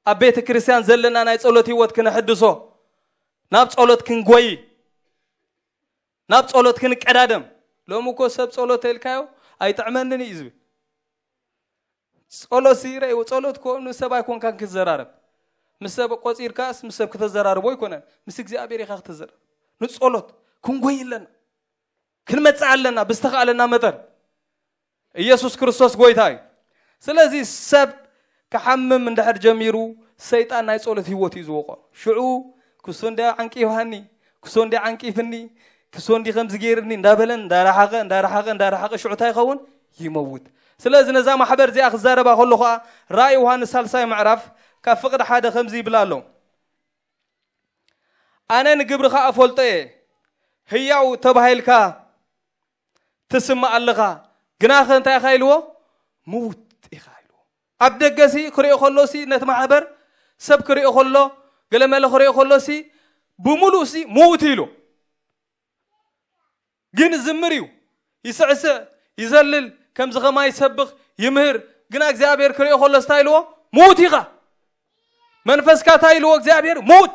ኣብ ቤተ ክርስቲያን ዘለና ናይ ጸሎት ህይወት ክንሕድሶ፣ ናብ ጸሎት ክንጎይ፣ ናብ ጸሎት ክንቀዳደም። ሎሚ እኮ ሰብ ጸሎት ተልካዮ ኣይጥዕመንን እዩ ዝብል። ጸሎት ሲ ረእይዎ፣ ጸሎት እኮ ንሰብ ኣይኮንካን ክትዘራረብ። ምስ ሰብ ቆጺርካስ ምስ ሰብ ከተዘራርቦ ኣይኮነን፣ ምስ እግዚኣብሔር ኢኻ ክትዘራረብ። ንጸሎት ክንጎይ ኣለና፣ ክንመጽእ ኣለና ብዝተኻእለና መጠን። ኢየሱስ ክርስቶስ ጎይታ እዩ። ስለዚ ሰብ ክሓምም እንድሕር ጀሚሩ ሰይጣን ናይ ጸሎት ህይወት እዩ ዝወቆ። ሽዑ ክሱ እንዲ ዓንቂፍሃኒ፣ ክሱ እንዲ ዓንቂፍኒ፣ ክሱ እንዲ ከምዚ ገይርኒ እንዳበለን እንዳረሓቐ እንዳረሓቐ እንዳረሓቐ ሽዑ እንታይ ይኸውን? ይመውት። ስለዚ ነዛ ማሕበር እዚኣ ክዛረባ ከሎ ኸዓ ራእይ ዮሃንስ ሳልሳይ ምዕራፍ ካብ ፍቕዲ ሓደ ከምዚ ይብል ኣሎ። ኣነ ንግብርኻ እፈልጦ እየ፣ ህያው ተባሂልካ ትስማዕ ኣለኻ፣ ግናኸ እንታይ ኢኻ ኢልዎ? ምዉት ኢኻ ኢልዎ። ኣብ ደገ ሲ ክሪኦ ከሎ ሲ ነቲ ማሕበር ሰብ ክሪኦ ከሎ ገለመለ ክሪኦ ከሎ ሲ ብምሉእ ሲ ምዉት ኢሉ። ግን ዝምር እዩ፣ ይስዕስዕ፣ ይዘልል፣ ከምዚ ኸማይ ይሰብኽ፣ ይምህር። ግና እግዚኣብሔር ክሪኦ ከሎ እንታይ ኢልዎ? ምዉት ኢኻ። መንፈስካ እንታይ ኢልዎ እግዚኣብሔር? ምዉት።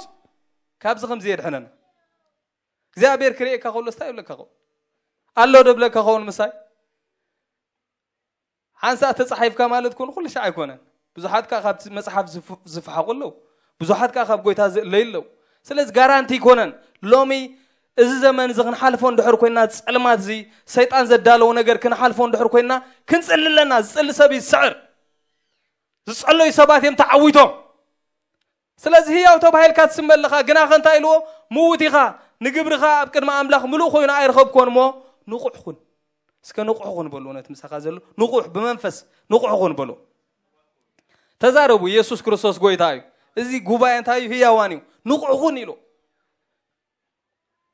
ካብዚ ከምዚ የድሕነና። እግዚኣብሔር ክርእየካ ከሎ እንታይ ይብለካ ኸውን? ኣሎ ዶ ብለካ ኸውን ምሳይ? ሓንሳእ ተጻሒፍካ ማለት ኮን ኩሉ ሻዕ ኣይኮነን። ብዙሓት ከኣ ካብቲ መጽሓፍ ዝፍ-፣ ዝፈሓቑ ኣለዉ። ብዙሓት ከኣ ካብ ጎይታ ዝእለዩ ኣለዉ። ስለዚ ጋራንቲ ኣይኮነን። ሎሚ እዚ ዘመን እዚ ክንሓልፎ እንድሕር ኮይና፣ ጸልማት እዚ ሰይጣን ዘዳለዎ ነገር ክንሓልፎ እንድሕር ኮይና፣ ክንጽሊ ኣለና። ዝጽሊ ሰብ ይስዕር። ዝጸለዩ ሰባት እዮም ተዓዊቶም። ስለዚ ህያው ተባሂልካ ትስመ ኣለኻ፣ ግናኸ እንታይ ኢልዎ? ምዉት ኢኻ፣ ንግብርኻ ኣብ ቅድሚ ኣምላኽ ምሉእ ኮይኑ ኣይረኸብኩዎን እሞ ንቑሕ ኩን። እስከ ንቑሕ ኩን በሉ፣ ነቲ ምሳኻ ዘሎ ንቑሕ፣ ብመንፈስ ንቑሕ ኩን በሉ። ተዛረቡ፣ ኢየሱስ ክርስቶስ ጎይታ እዩ። እዚ ጉባኤ እንታይ እዩ? ህያዋን እዩ። ንቑሕ ኩን ኢሉ።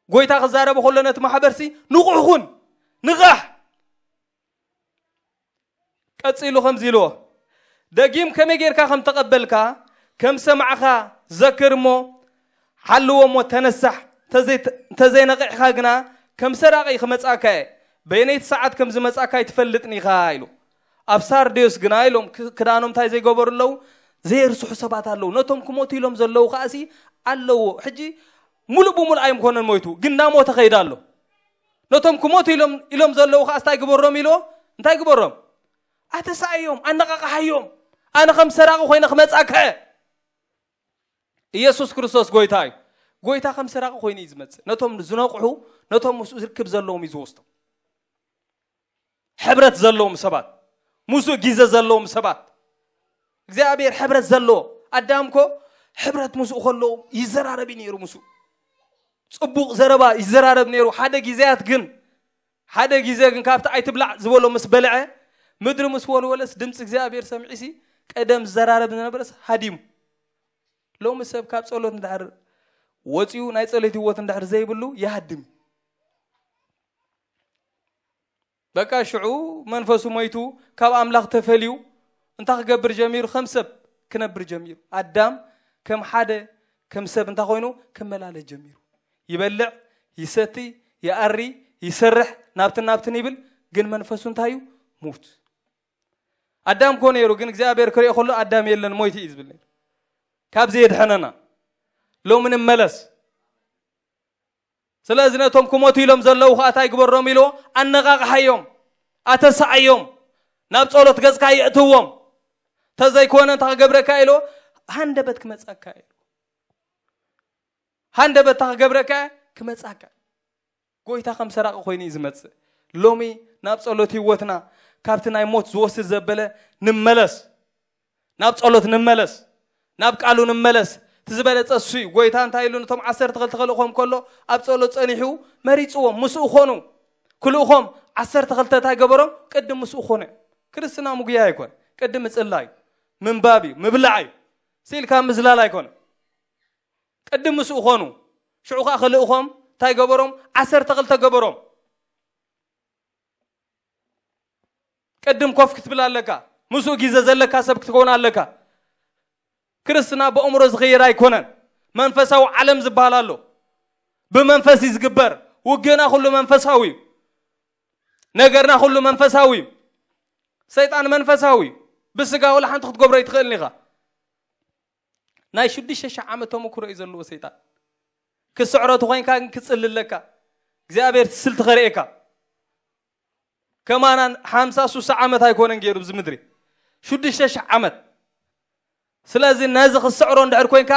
ጎይታ ክዛረብ ከሎ ነቲ ማሕበርሲ ንቑሕ ኩን፣ ንቓሕ። ቀጺሉ ከምዚ ኢልዎ፣ ደጊም ከመይ ጌርካ ከም ተቐበልካ ከም ሰማዕኻ ዘክር እሞ ሓልዎ እሞ ተነሳሕ። እንተዘይ-፣ እንተዘይነቒሕካ ግና ከም ሰራቒ ክመጻካ እየ፣ በየነይቲ ሰዓት ከም ዝመጻካ ኣይትፈልጥን ኢኻ ኢሉ። ኣብ ሳርዴዎስ ግና ኢሎም ክ-፣ ክዳኖም እንታይ ዘይገበሩ ኣለዉ? ዘየርስሑ ሰባት ኣለዉ። ነቶም ክሞቱ ኢሎም ዘለዉ ከኣሲ ኣለዎ። ሕጂ ሙሉእ ብሙሉእ ኣይምኮነን ሞይቱ፣ ግን እናሞተ ኸይዳ ኣሎ። ነቶም ክሞቱ ኢሎም፣ ኢሎም ዘለዉ ኸኣ እንታይ ግበሮም ኢልዎ? እንታይ ግበሮም? ኣተሳእዮም፣ ኣነቓቕሓዮም። ኣነ ከም ሰራቒ ኮይነ ክመጻካ እየ። ኢየሱስ ክርስቶስ ጎይታ እዩ። ጎይታ ከም ሰራቒ ኮይኑ እዩ ዝመጽእ። ነቶም ዝነቕሑ፣ ነቶም ምስኡ ዝርክብ ዘለዎም እዩ ዝወስዶም። ሕብረት ዘለዎም ሰባት፣ ምስኡ ግዜ ዘለዎም ሰባት። እግዚኣብሔር ሕብረት ዘለዎ ኣዳም እኮ ሕብረት ምስኡ ከለዎ ይዘራረብ እዩ ነይሩ። ምስኡ ጽቡቕ ዘረባ ይዘራረብ ነይሩ። ሓደ ግዜያት ግን፣ ሓደ ግዜ ግን ካብቲ ኣይትብላዕ ዝበሎ ምስ በልዐ፣ ምድሪ ምስ ወልወለስ ድምፂ እግዚኣብሔር ሰሚዑሲ ቀደም ዝዘራረብ ዝነበረስ ሃዲሙ። ሎሚ ሰብ ካብ ጸሎት እንድሕር ወፂኡ ናይ ጸሎት ህይወት እንድሕር ዘይብሉ ይሃድም። በቃ ሽዑ መንፈሱ ሞይቱ ካብ ኣምላኽ ተፈልዩ እንታይ ክገብር ጀሚሩ? ከም ሰብ ክነብር ጀሚሩ። ኣዳም ከም ሓደ ከም ሰብ እንታይ ኮይኑ ክመላለስ ጀሚሩ። ይበልዕ፣ ይሰቲ፣ ይኣሪ፣ ይሰርሕ፣ ናብትን ናብትን ይብል። ግን መንፈሱ እንታይ እዩ? ሙት። ኣዳም ኮ ነይሩ፣ ግን እግዚኣብሔር ክሪኦ ከሎ ኣዳም የለን፣ ሞይቱ እዩ ዝብል ነይሩ። ካብዚ የድሐነና። ሎሚ ንመለስ። ስለዚ ነቶም ክሞቱ ኢሎም ዘለዉ ከዓ እንታይ ግበሮም ኢልዎ? ኣነቓቕሓዮም፣ ኣተሰኣዮም፣ ናብ ጸሎት ገጽካ የእትዎም። ተዘይኮነ እንታይ ክገብረካ ኢልዎ? ሃንደበት ክመጻካ ኢልዎ። ሃንደበት እንታይ ክገብረካ? ክመጻካ። ጎይታ ከም ሰራቂ ኮይኑ እዩ ዝመጽእ። ሎሚ ናብ ጸሎት ህይወትና ካብቲ ናይ ሞት ዝወስድ ዘበለ ንመለስ። ናብ ጸሎት ንመለስ። ናብ ቃሉ ንመለስ። እቲ ዝበለጸ እሱ እዩ። ጎይታ እንታይ ኢሉ ነቶም ዓሰርተ ክልተ ክልእኾም ከሎ ኣብ ጸሎት ጸኒሑ መሪጽዎም። ምስኡ ኾኑ። ክልእኾም ዓሰርተ ክልተ እንታይ ገበሮም? ቅድም ምስኡ ኾኑ። ክርስትና ምጉያይ ኣይኮን። ቅድም ምጽላይ እዩ። ምንባብ እዩ። ምብላዕ እዩ። ስኢልካ ምዝላል ኣይኮነ። ቅድም ምስኡ ኾኑ። ሽዑ ኸዓ ክልእኾም እንታይ ገበሮም? ዓሰርተ ክልተ ገበሮም። ቅድም ኮፍ ክትብል ኣለካ። ምስኡ ግዜ ዘለካ ሰብ ክትከውን ኣለካ። ክርስትና ብኣእምሮ ዝኸይር ኣይኮነን። መንፈሳዊ ዓለም ዝበሃል ኣሎ። ብመንፈስ እዩ ዝግበር። ውግእና ኩሉ መንፈሳዊ እዩ። ነገርና ኩሉ መንፈሳዊ እዩ። ሰይጣን መንፈሳዊ እዩ። ብስጋ ወላ ሓንቲ ክትገብሮ ኣይትኽእልን ኢኻ። ናይ ሽዱሽተ ሺሕ ዓመት ተመክሮ እዩ ዘለዎ ሰይጣን። ክስዕሮ ተኾይንካ ግን ክጽሊ ኣለካ። እግዚኣብሔር ስልቲ ከርእየካ። ከማና ሓምሳ ሱሳ ዓመት ኣይኮነን ገይሩ ኣብዚ ምድሪ። ሽዱሽተ ሺሕ ዓመት። ስለዚ ነዚ ክስዕሮ እንድሕር ኮይንካ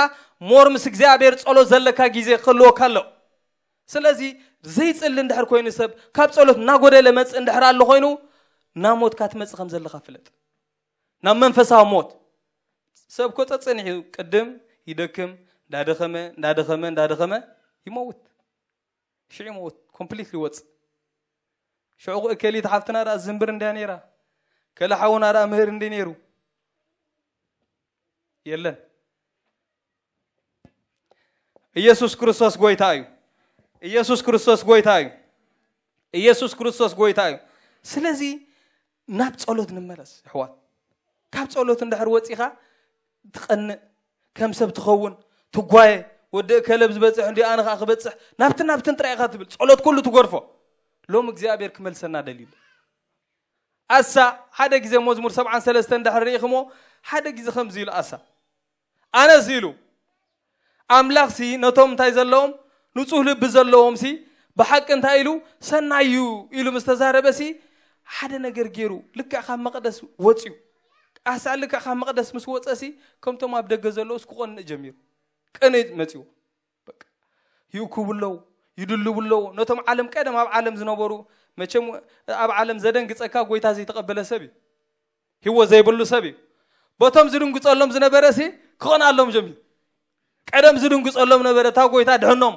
ሞር ምስ እግዚኣብሔር ጸሎት ዘለካ ግዜ ክህልወካ ኣሎ። ስለዚ ዘይጽሊ እንድሕር ኮይኑ ሰብ ካብ ጸሎት እናጎደለ መጽእ እንድሕር ኣሎ ኮይኑ ናብ ሞትካ ትመጽእ ከም ዘለኻ ፍለጥ። ናብ መንፈሳዊ ሞት። ሰብ እኮ ጸጸኒሑ ቅድም ይደክም፣ እንዳደኸመ፣ እንዳደኸመ፣ እንዳደኸመ ይመውት። ሽዑ ይመውት፣ ኮምፕሊትሊ ይወጽእ። ሽዑ እከሊት ሓፍትና ደኣ ዝንብር እንድያ ነይራ። ከለ ሓውና ደኣ ምህር እንዲ ነይሩ። የለን። ኢየሱስ ክርስቶስ ጎይታ እዩ። ኢየሱስ ክርስቶስ ጎይታ እዩ። ኢየሱስ ክርስቶስ ጎይታ እዩ። ስለዚ ናብ ጸሎት ንመለስ ኣሕዋት። ካብ ጸሎት እንድሕር ወጺኻ ትቐንእ፣ ከም ሰብ ትኸውን፣ ትጓየ፣ ወዲ እከለ ኣብ ዝበጽሕ እንዲ ኣነ ኸኣ ክበጽሕ፣ ናብትን ናብትን ጥራይ ኢኻ ትብል። ጸሎት ኩሉ ትገድፎ። ሎም እግዚኣብሔር ክመልሰና ደልዩ ኣሎ። ኣሳ ሓደ ግዜ መዝሙር ሰብዓን ሰለስተን እንድሕር ርኢኽሞ፣ ሓደ ግዜ ከምዚ ኢሉ ኣሳ። ኣነስ ኢሉ ኣምላኽሲ ነቶም እንታይ ዘለዎም ንጹህ ልቢ ዘለዎም ሲ ብሓቂ እንታይ ኢሉ ሰናይ እዩ ኢሉ ምስ ተዛረበ ሲ ሓደ ነገር ገይሩ ልክዕ ካብ መቕደስ ወጽዩ ኣሳ ልክዕ ካብ መቕደስ ምስ ወጸ ሲ ከምቶም ኣብ ደገ ዘለውስ ክቖንእ ጀሚሩ ቅንእ መጽዎ በቃ ይእኩቡ ኣለዉ ይድልቡ ኣለዉ ነቶም ዓለም ቀደም ኣብ ዓለም ዝነበሩ መቸም ኣብ ዓለም ዘደንግጸካ ጎይታ ዘይተቐበለ ሰብ እዩ ህይወት ዘይብሉ ሰብ እዩ። በቶም ዝድንግጸሎም ዝነበረ ሲ ክቐንኣሎም ጀሚሩ። ቀደም ዝድንግጸሎም ነበረ እታ ጎይታ ድሕኖም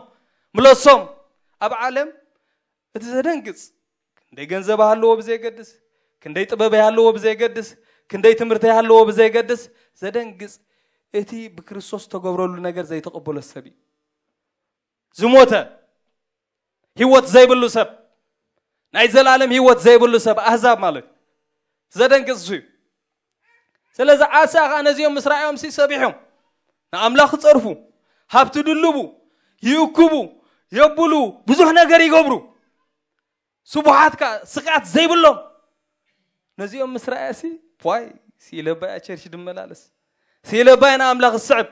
ምለሶም። ኣብ ዓለም እቲ ዘደንግጽ ክንደይ ገንዘብ ሃለዎ ብዘይገድስ፣ ክንደይ ጥበብ ሃለዎ ብዘይገድስ፣ ክንደይ ትምህርቲ ሃለዎ ብዘይገድስ ዘደንግጽ እቲ ብክርስቶስ ተገብረሉ ነገር ዘይተቐበሎ ሰብ እዩ። ዝሞተ ህይወት ዘይብሉ ሰብ ናይ ዘላለም ህይወት ዘይብሉ ሰብ ኣህዛብ ማለት ዘደንግጽ እዩ። ስለዚ ዓሳ ኸዓ ነዚኦም ምስ ረኣዮም ሲ ሰቢሖም ንኣምላኽ ክጸርፉ ሃብቲ ድልቡ ይእክቡ የብሉ ብዙሕ ነገር ይገብሩ ስቡሓት ከ ስቕያት ዘይብሎም ነዚኦም ምስ ረኣያ ሲ ፖይ ሲኢለባያ ቸርች ድመላለስ ሲኢለባያ ንኣምላኽ ዝስዕብ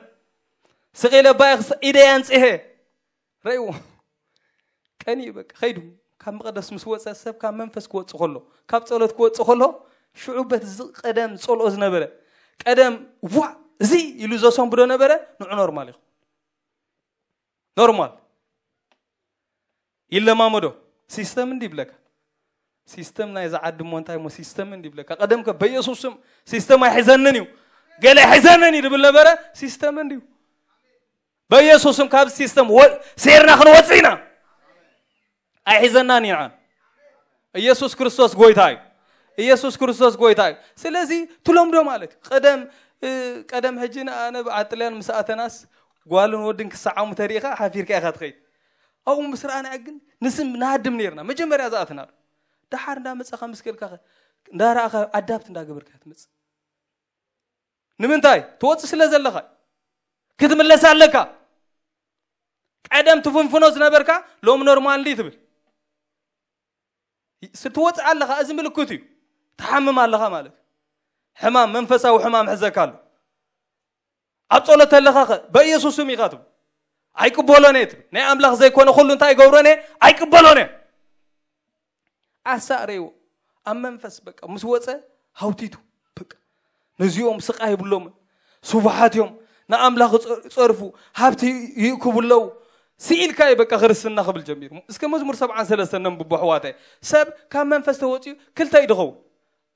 ስቕ ኢለባያ ኢደይ ኣንጽሄ ረእዎ ቀኒ በቃ ኸይዱ ካብ መቕደስ ምስ ወፀ ሰብ ካብ መንፈስ ክወፅእ ከሎ ካብ ፀሎት ክወፅእ ከሎ ሽዑ በት እዚ ቀደም ዝፀልኦ ዝነበረ ቀደም ዋ እዚ ኢሉ ዘሰንብዶ ነበረ ንዑ ኖርማል ይኹን ኖርማል ይለማመዶ ሲስተም እንዲ ይብለካ ሲስተም ናይ ዝዓዲ እሞ እንታይ እሞ ሲስተም እንዲ ይብለካ ቀደም ከ በኢየሱስ ስም ሲስተም ኣይሕዘንን እዩ ገለ ኣይሕዘንን እዩ ድብል ነበረ ሲስተም እንዲዩ በኢየሱስ ስም ካብ ሲስተም ሴርና ክንወፅእ ኢና ኣይሕዘናን ኢና ኢየሱስ ክርስቶስ ጎይታ እዩ ኢየሱስ ክርስቶስ ጎይታ እዩ። ስለዚ ትለምዶ ማለት እዩ። ቀደም ቀደም ሕጂ ኣነ ብዓጥልያን ምስ ኣተናስ ጓልን ወድን ክሰዓሙ ተሪኢኻ ሓፊርካ ኢኻ ትኸይድ። ኣብኡ ምስ ረኣና ግን ንስም ንሃድም ነርና። መጀመርያ ዝኣትና ደሓር እንዳመጻኻ ምስ ከድካ እንዳረኣኻ ኣዳፕት እንዳገበርካ ትመጽእ። ንምንታይ ትወጽእ ስለ ዘለኻ ክትምለስ ኣለካ። ቀደም ትፍንፍኖ ዝነበርካ ሎም ኖርማል እንዲ ትብል ትወፅእ ኣለኻ። እዚ ምልክት እዩ። ትሓምም ኣለኻ ማለት እዩ። ሕማም መንፈሳዊ ሕማም ሕዘካ ኣሎ። ኣብ ጸሎት ኣለኻ ኸ በኢየሱስ ስም ኢኻ ትብል። ኣይቅበሎን እየ ትብል። ናይ ኣምላኽ ዘይኮነ ኩሉ እንታይ ይገብሮን እየ ኣይቅበሎን እየ። ኣሳእረይዎ ኣብ መንፈስ በቃ ምስ ወፀ ሃውቲቱ በቃ ነዚኦም ስቃይ ይብሎምን ስቡሓት እዮም። ንኣምላኽ ይጸርፉ ሃብቲ ይእክቡ ኣለዉ። ስኢልካ እዩ በቃ ክርስትና ክብል ጀሚሩ። እስከ መዝሙር ሰብዓን ሰለስተን ነንብቦ ኣሕዋታይ። ሰብ ካብ መንፈስ ተወፂኡ ክልተ እዩ ድኸውን።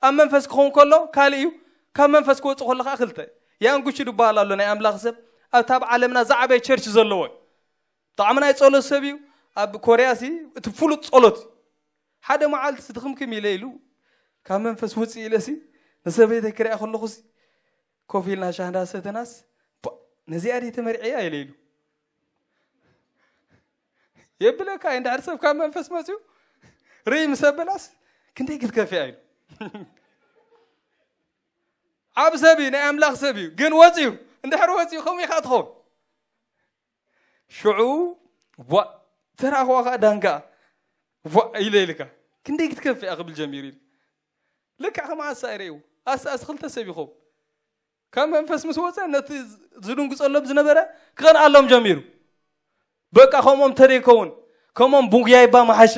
ኣብ መንፈስ ክኸውን ከሎ ካልእ እዩ። ካብ መንፈስ ክወፅእ ከሎ ከዓ ክልተ። ያንጉቺ ዝበሃል ኣሎ ናይ ኣምላኽ ሰብ ኣብታ ኣብ ዓለምና ዝዓበየ ቸርች ዘለዎ እዩ። ብጣዕሚ ናይ ጸሎት ሰብ እዩ። ኣብ ኮርያ ሲ እቲ ፍሉጥ ጸሎት እዩ። ሓደ መዓልቲ ድኽምክም ኢለ ኢሉ ካብ መንፈስ ውፅእ ኢለ ሲ ንሰበይተይ ክሪኣ ከለኹ ሲ ኮፍ ኢልና ሻሂ እንዳሰተናስ "ቧ፣ ነዚኣ ድየ ተመርዕያ?" ኢለ ኢሉ የብለካ። እንድሕር ሰብ ካብ መንፈስ መፅዩ ርኢ ምስ ኣበላስ ክንደይ ክትከፍያ ኢሉ ዓብ ሰብ እዩ፣ ናይ ኣምላኽ ሰብ እዩ። ግን ወፅዩ እንድሕር ወፅዩ ከምኡ ኢኻ ትኸውን። ሽዑ ቧ ተራኽዋ ከዓ ዳንጋ ቧ ኢለ ኢልካ ክንደይ ክትከፍያ ክብል ጀሚሩ ኢሉ ልክዕ ከም ኣሳ ይርእዩ ኣሳ ኣስ ክልተ ሰብ ይኸውን ካብ መንፈስ ምስ ወፀ ነቲ ዝድንግፀሎም ዝነበረ ክቐንኣሎም ጀሚሩ። በቃ ከምኦም ተደይከውን ከምኦም ቡጉያይ እባ መሓሸ።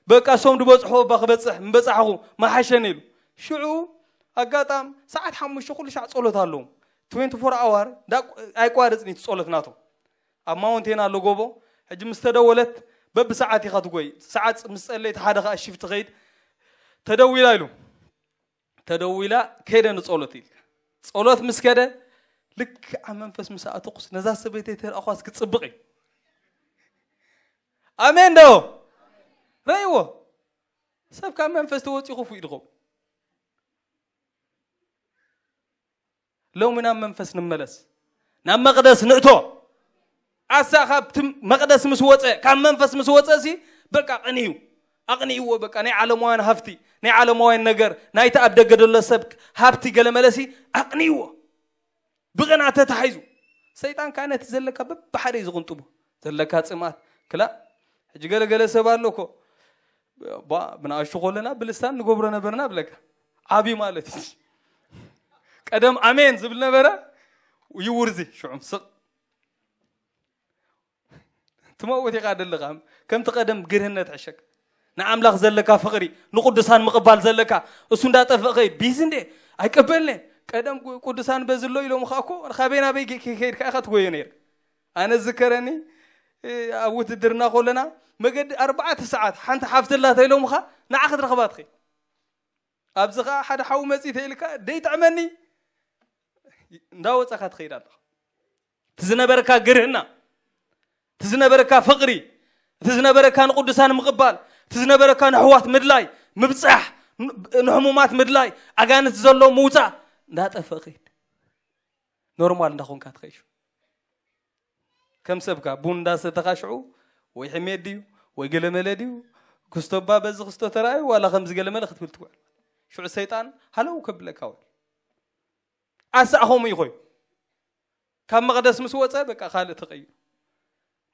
በቃ ሶም ዝበፅሕዎ እባ ክበፅሕ ምበፃሕኹ መሓሸን ኢሉ። ሽዑ ኣጋጣም ሰዓት ሓሙሽተ ኩሉ ሻዕ ፀሎት ኣለዎም። ትዌንቲ ፎር ኣዋር ኣይቋርፅን እዩ እቲ ፀሎት ናቶም። ኣብ ማውንቴን ኣሎ ጎቦ። ሕጂ ምስ ተደወለት በብሰዓት ኢኻ ትጎይ። ሰዓት ምስ ፀለይት ሓደ ከዓ ሽፍቲ ኸይድ ተደዊላ ኢሉ። ተደዊላ ከይደ ንጸሎት ኢልካ ጸሎት ምስ ከደ ልክዕ ኣብ መንፈስ ምስ ኣተኩስ ነዛ ሰበይተይ ተረኣኳስ ክጽብቕ እዩ። ኣሜን ዶ ረእይዎ። ሰብ ካብ መንፈስ ተወፂኡ ክፉእ ድኸውን። ሎሚ ናብ መንፈስ ንመለስ፣ ናብ መቕደስ ንእቶ። ኣሳ ካብቲ መቕደስ ምስ ወፀ፣ ካብ መንፈስ ምስ ወፀ ሲ በቃ ቀንዩ ኣቕንይዎ። በቃ ናይ ዓለማውያን ሃፍቲ፣ ናይ ዓለማውያን ነገር፣ ናይቲ ኣብ ደገ ደሎ ሰብ ሃብቲ ገለመለ ሲ ኣቕንይዎ። ብቕናት ተታሒዙ ሰይጣን ከዓ ነቲ ዘለካ በብሓደ እዩ ዝቕንጥቡ። ዘለካ ጽማት ክላ ሕጂ ገለገለ ሰብ ኣሎ እኮ ባ ብንኣሽቱ ከለና ብልሳን ንገብሮ ነበርና ብለካ ዓብዩ ማለት እዩ። ቀደም ኣሜን ዝብል ነበረ ይውርዚ ሽዑም ስቕ ትመውት ኢኻ ደለኻ። ከምቲ ቀደም ግርህነት ሕሸክ ንኣምላኽ ዘለካ ፍቕሪ ንቅዱሳን ምቕባል ዘለካ እሱ እንዳጠፍእ ኸይድ ቢዚ እንዴ ኣይቀበልነ። ቀደም ቅዱሳን በዝሎ ኢሎም ኸ እኮ ካበይ ናበይ ከይድካ ኢኻ ትጎዮ ነይር። ኣነ ዝከረኒ ኣብ ውትድርና ከለና መገዲ ኣርባዕተ ሰዓት ሓንቲ ሓፍትላ ተኢሎምኻ ንዓ ክትረኽባ ትኽእል። ኣብዚ ኸዓ ሓደ ሓዊ መፂ ተኢልካ ደይጥዕመኒ እንዳወፀኻ ትኸይድ ኣለኻ። እቲ ዝነበረካ ግርህና፣ እቲ ዝነበረካ ፍቕሪ፣ እቲ ዝነበረካ ንቅዱሳን ምቕባል፣ እቲ ዝነበረካ ንሕዋት ምድላይ፣ ምብፃሕ፣ ንሕሙማት ምድላይ፣ ኣጋንት ዘሎ ምውፃእ እንዳጠፍእ ኸይድ። ኖርማል እንዳኾንካ ትኸይድ። ከም ሰብካ ቡን እንዳሰተኻ ሽዑ ወይ ሕሜት ድዩ ወይ ገለመለ ድዩ ክስቶባ በዚ ክስቶ ተራእዩ ዋላ ከምዚ ገለመለ ክትብል ትውዕል። ሽዑ ሰይጣን ሃለው ከብለካ ውዕል። ኣሳእ ከምኡ ይኾዩ። ካብ መቕደስ ምስ ወፀ በቃ ካልእ ተቐይሩ።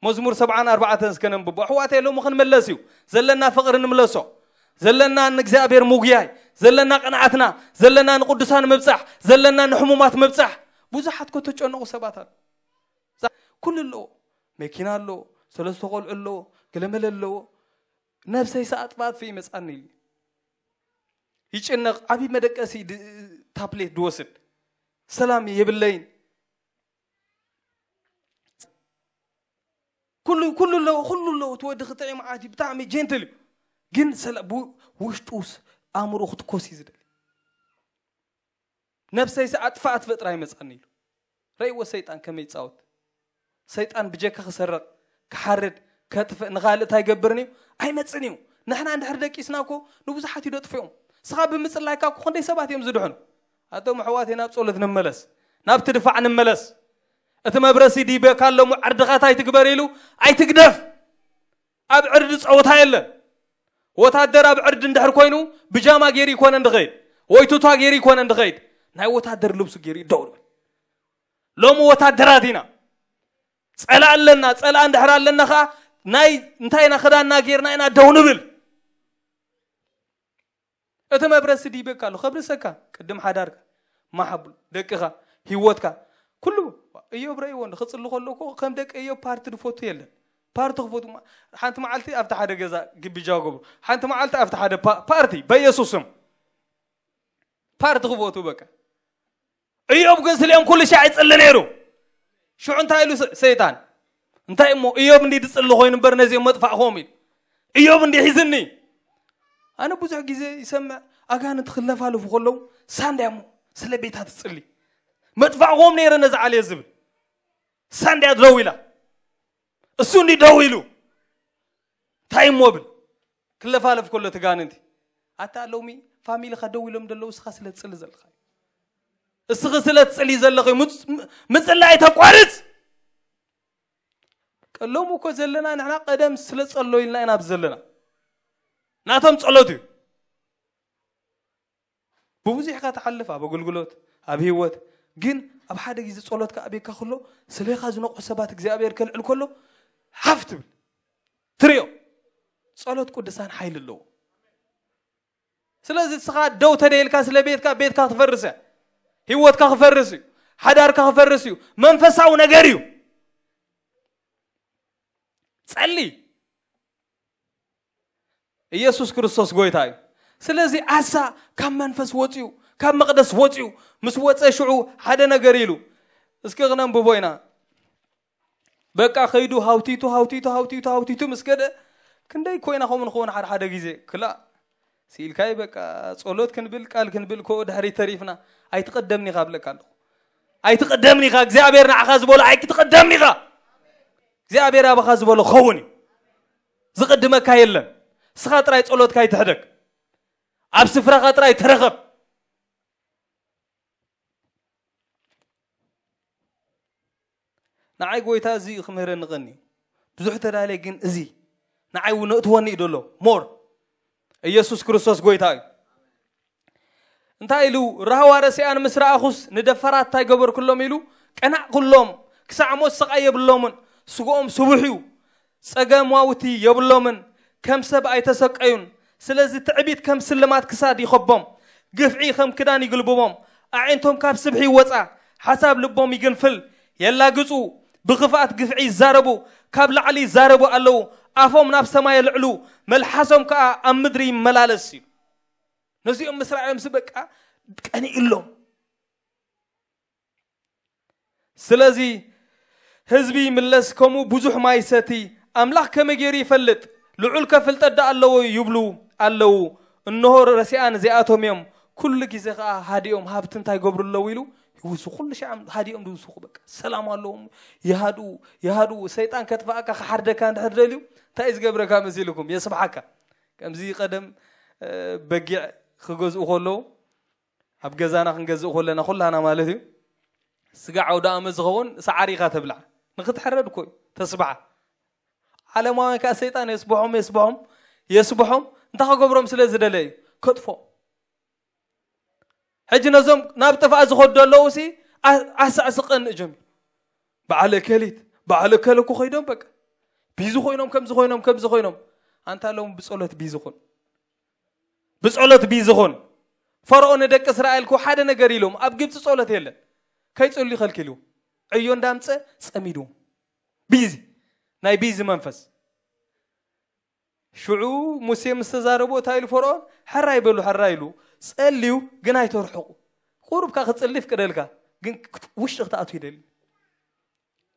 መዝሙር ሰብዓን ኣርባዕተን እስከ ነንብቦ። ኣሕዋተይ ሎሚ ክንመለስ እዩ ዘለና ፍቕሪ ንምለሶ ዘለና ንእግዚኣብሔር ምጉያይ ዘለና ቅንዓትና ዘለና ንቅዱሳን ምብፃሕ ዘለና ንሕሙማት ምብፃሕ። ብዙሓት ከተጨነቑ ሰባት ኣሉ። ኩሉ ኣለዎ። መኪና ኣለዎ። ሰለስተ ቆልዑ ኣለዎ። ገለመለ ኣለዎ። ነብሰይ ሰኣጥፋጥፍ ይመፃኒ ኢሉ ይጭነቕ። ዓብዪ መደቀሲ ታፕሌት ድወስድ ሰላም የብለይን። ኩሉ ኩሉ ኣለዎ ኩሉ ኣለዎ እቲ ወዲ ክጥዒም ዓዲ ብጣዕሚ ጀንትል እዩ። ግን ውሽጡ ኣእምሮ ክትኮስ እዩ ዝደሊ። ነብሰይሲ ኣጥፋ ኣትፈጥራ ይመፃኒ ኢሉ ረእዎ። ሰይጣን ከመይ ይፃወት። ሰይጣን ብጀካ ክሰርቕ ክሓርድ ከጥፍእ ንኻልእ እንታይ ይገብርን እዩ? ኣይመፅን እዩ። ንሕና እንድሕር ደቂስና እኮ ንብዙሓት እዩ ደጥፍኦም። ንስኻ ብምጽላይካ እኮ ክንደይ ሰባት እዮም ዝድሕኑ። ኣቶም ኣሕዋተይ ናብ ጸሎት ንመለስ፣ ናብቲ ድፋዕ ንመለስ። እቲ መብረሲ ዲበካ ኣሎ እሞ ዕርድኻ እንታይ ትግበር ኢሉ ኣይትግደፍ። ኣብ ዕርዲ ጸወታ የለን። ወታደር ኣብ ዕርዲ እንድሕር ኮይኑ ብጃማ ገይሩ ይኮነ እንድኸይድ ወይ ቱታ ገይሩ ይኮነ እንድኸይድ ናይ ወታደር ልብሱ ገይሩ ይደው ይብል። ሎሚ ወታደራት ኢና። ጸላ ኣለና። ጸላ እንድሕር ኣለና ኸዓ ናይ እንታይ ኢና ክዳንና ገይርና ኢና ደው ንብል። እቲ መብረሲ ዲበካ ኣሎ ከብርሰካ ቅድም ሓዳርካ ማሓብሉ ደቅኻ ህይወትካ ኩሉ። እዮብ ረእይዎ እንዶ ክጽሊ ከሎ እኮ ከም ደቂ እዮብ ፓርቲ ድፈቱ የለን። ፓርቲ ክፈቱ ማ- ሓንቲ መዓልቲ ኣብቲ ሓደ ገዛ ግቢ ጃው ገብሩ፣ ሓንቲ መዓልቲ ኣብቲ ሓደ ፓ- ፓርቲ በኢየሱስ ስም ፓርቲ ክፈቱ በቃ። እዮብ ግን ስሊኦም ኩሉ ሻዕ ይጽሊ ነይሩ። ሽዑ እንታይ ኢሉ ሰ- ሰይጣን እንታይ እሞ እዮብ እንዲ ድጽሊ ኮይኑ እምበር ነዚኦም መጥፋእኹም ኢሉ እዮብ እንዲ ሒዝኒ። ኣነ ብዙሕ ግዜ ይሰምዕ ኣጋንንቲ ክለፋለፉ ከለዉ ሳንድያ እሞ ስለ ቤታ ትጽሊ መጥፋእኹም ነይረ ነዚ ዓልየ ዝብል ሳንድያ ደው ኢላ እሱ እንዲ ደው ኢሉ እንታይ እሞ ብል ክለፋለፍ ከሎ ትጋንንቲ ኣታ ሎሚ ፋሚሊኻ ደው ኢሎም ደለዉ እስኻ ስለ ትጽሊ ዘለኻ እዩ። እስኺ ስለ ትጽሊ ዘለኺ ምጽ- ም- ምጽላይ ተቋርጽ። ቀሎም እኮ ዘለና ንሕና ቀደም ስለ ጸሎ ኢልና ኢና ኣብዚ ዘለና ናቶም ጸሎት እዩ። ብብዙሕ ኢኻ ትሓልፍ ኣብ ኣገልግሎት ኣብ ህይወት ግን ኣብ ሓደ ግዜ ጸሎትካ ኣቤካ ከሎ ስለኻ ዝነቑሑ ሰባት እግዚኣብሔር ከልዕል ከሎ ሓፍ ትብል ትርእዮ። ጸሎት ቅዱሳን ሓይሊ ኣለዎ። ስለዚ እስኻ ደው ተደይልካ ስለ ቤትካ ቤትካ ክፈርስ እያ። ህይወትካ ክፈርስ እዩ። ሓዳርካ ክፈርስ እዩ። መንፈሳዊ ነገር እዩ። ጸሊ ኢየሱስ ክርስቶስ ጎይታ እዩ። ስለዚ ኣሳ ካብ መንፈስ ወፅዩ ካብ መቅደስ ወፅዩ ምስ ወፀ ሽዑ ሓደ ነገር ኢሉ እስኪ ክነንብቦ ኢና። በቃ ከይዱ ሃውቲቱ ሃውቲቱ ሃውቲቱ ሃውቲቱ ምስ ገደ ክንደይ ኮይና ከምኡ ንኸውን ሓደ ሓደ ግዜ ክላእ ስኢልካይ በቃ ጸሎት ክንብል ቃል ክንብል ኮ ድሕሪ ተሪፍና ኣይትቀደምኒ ካብ ለካ ኣለኹ ኣይትቀደምኒ ካ እግዚኣብሔር ንዓኻ ዝበሎ ኣይትቀደምኒ ካ እግዚኣብሔር ኣባኻ ዝበሎ ኸውን እዩ ዝቅድመካ የለን ስኻ ጥራይ ጸሎትካ ይትሕደግ ኣብ ስፍራኻ ጥራይ ተረኸብ ንዓይ ጎይታ እዚ ክምህረኒ ቀኒ ብዙሕ ተዳልየ ግን እዚ ንዓይ እውን እእትወኒ እዩ ደሎ ሞር ኢየሱስ ክርስቶስ ጎይታ እዩ እንታይ ኢሉ ራህዋ ረሲኣን ምስ ረኣኹስ ንደፈራት እንታይ ገበርኩሎም ኢሉ ቀናዕኩሎም ክሳዕ ሞት ስቓይ የብሎምን ስግኦም ስቡሕ እዩ ጸገማውቲ የብሎምን ከም ሰብ ኣይተሰቀዩን ስለዚ ትዕቢት ከም ስልማት ክሳድ ይኸቦም ግፍዒ ከም ክዳን ይግልብቦም ኣዒንቶም ካብ ስብሒ ይወጻ ሓሳብ ልቦም ይግንፍል የላግጹ ብኽፍኣት ግፍዒ ይዛረቡ ካብ ላዕሊ ይዛረቡ ኣለዉ ኣፎም ናብ ሰማይ የልዕሉ መልሓሶም ከኣ ኣብ ምድሪ ይመላለስ እዩ ነዚኦም ምስ ረኣዮም በቃ ቀኒእሎም ስለዚ ህዝቢ ይምለስ ከምኡ ብዙሕ ማይ ይሰቲ ኣምላኽ ከመይ ገይሩ ይፈልጥ ልዑል ከ ፍልጠት ደኣ ኣለዎ ይብሉ ኣለዉ እንሆ ረሲኣን እዚኣቶም እዮም ኩሉ ግዜ ከዓ ሃዲኦም ሃብቲ እንታይ ገብሩ ኣለዉ ኢሉ ይውሱ ኩሉ ሻዕ ሃዲኦም ዝውስኹ በቃ ሰላም ኣለዎም ይሃድኡ ይሃድኡ ሰይጣን ከጥፋእካ ክሓርደካ እንድሕር ደልዩ እንታይ እዩ ዝገብረካ መሲልኩም የስብሓካ ከምዚ ቀደም በጊዕ ክገዝኡ ከለዉ ኣብ ገዛና ክንገዝእ ከለና ኩላና ማለት እዩ ስጋ ዓውደ ኣመት ዝኸውን ሰዓሪ ኢኻ ተብልዓ ንክትሕረድ እኮ እዩ ተስብዓ ዓለማውያን ከዓ ሰይጣን የስብሖም የስብሖም የስብሖም እንታይ ከገብሮም ስለ ዝደለ እዩ ከጥፎ ሕጂ ነዞም ናብ ጥፍኣ ዝኸዱ ኣለዉ ሲ ኣሳዕስቀን እጀም በዓል እከሊት በዓል እከል እኮ ኮይዶም በቃ ቢዚ ኮይኖም ከምዚ ኮይኖም ከምዚ ኮይኖም ኣንታ ኣለዎም ብፀሎት ቢዚ ኹን ብጸሎት ቢዚ ኹን። ፈርዖን ንደቂ እስራኤል እኮ ሓደ ነገር ኢሎም ኣብ ግብጺ ጸሎት የለን። ከይጸልዩ ከልኪልዎም። ዕዮ እንዳምጸ ጸሚድዎም። ቢዚ ናይ ቢዚ መንፈስ። ሽዑ ሙሴ ምስ ተዛረቦ እንታይ ኢሉ ፈርዖን? ሕራይ በሉ ሕራይ ኢሉ ጸልዩ ግን ኣይተርሕቑ። ቁሩብካ ክጽሊ ይፍቅደልካ ግን ውሽጢ ክትኣቱ ይደሊ።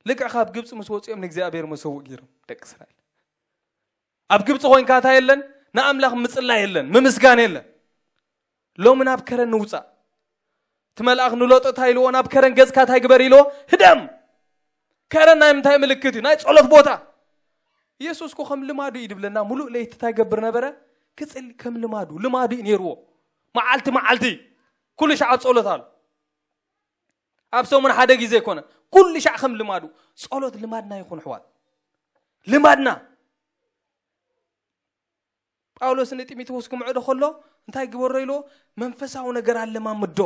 ልክዕ ካብ ግብጺ ምስ ወጽኦም ንእግዚኣብሔር መሰውእ ገይሮም ደቂ እስራኤል። ኣብ ግብፂ ኮይንካ እንታይ የለን ንኣምላኽ ምፅላይ የለን ምምስጋን የለን ሎሚ ናብ ከረን ንውፃእ እቲ መልኣኽ ንሎጥ እንታይ ኢልዎ ናብ ከረን ገፅካ እንታይ ግበር ኢልዎ ህደም ከረን ናይ ምንታይ ምልክት እዩ ናይ ፀሎት ቦታ ኢየሱስ ኮ ከም ልማዱ እዩ ድብለና ሙሉእ ለይቲ እንታይ ገብር ነበረ ክፅሊ ከም ልማዱ ልማዱ እዩ ነይርዎ መዓልቲ መዓልቲ ኩሉ ሻዕ ኣብ ጸሎት ኣሎ። ኣብ ሰሙን ሓደ ግዜ ኣይኮነ፣ ኩሉ ሻዕ ከም ልማዱ። ጸሎት ልማድና ይኹን ኣሕዋት፣ ልማድና። ጳውሎስ ንጢሞቴዎስ ክምዕዶ ከሎ እንታይ ግበሮ ኢልዎ? መንፈሳዊ ነገር ኣለማምዶ።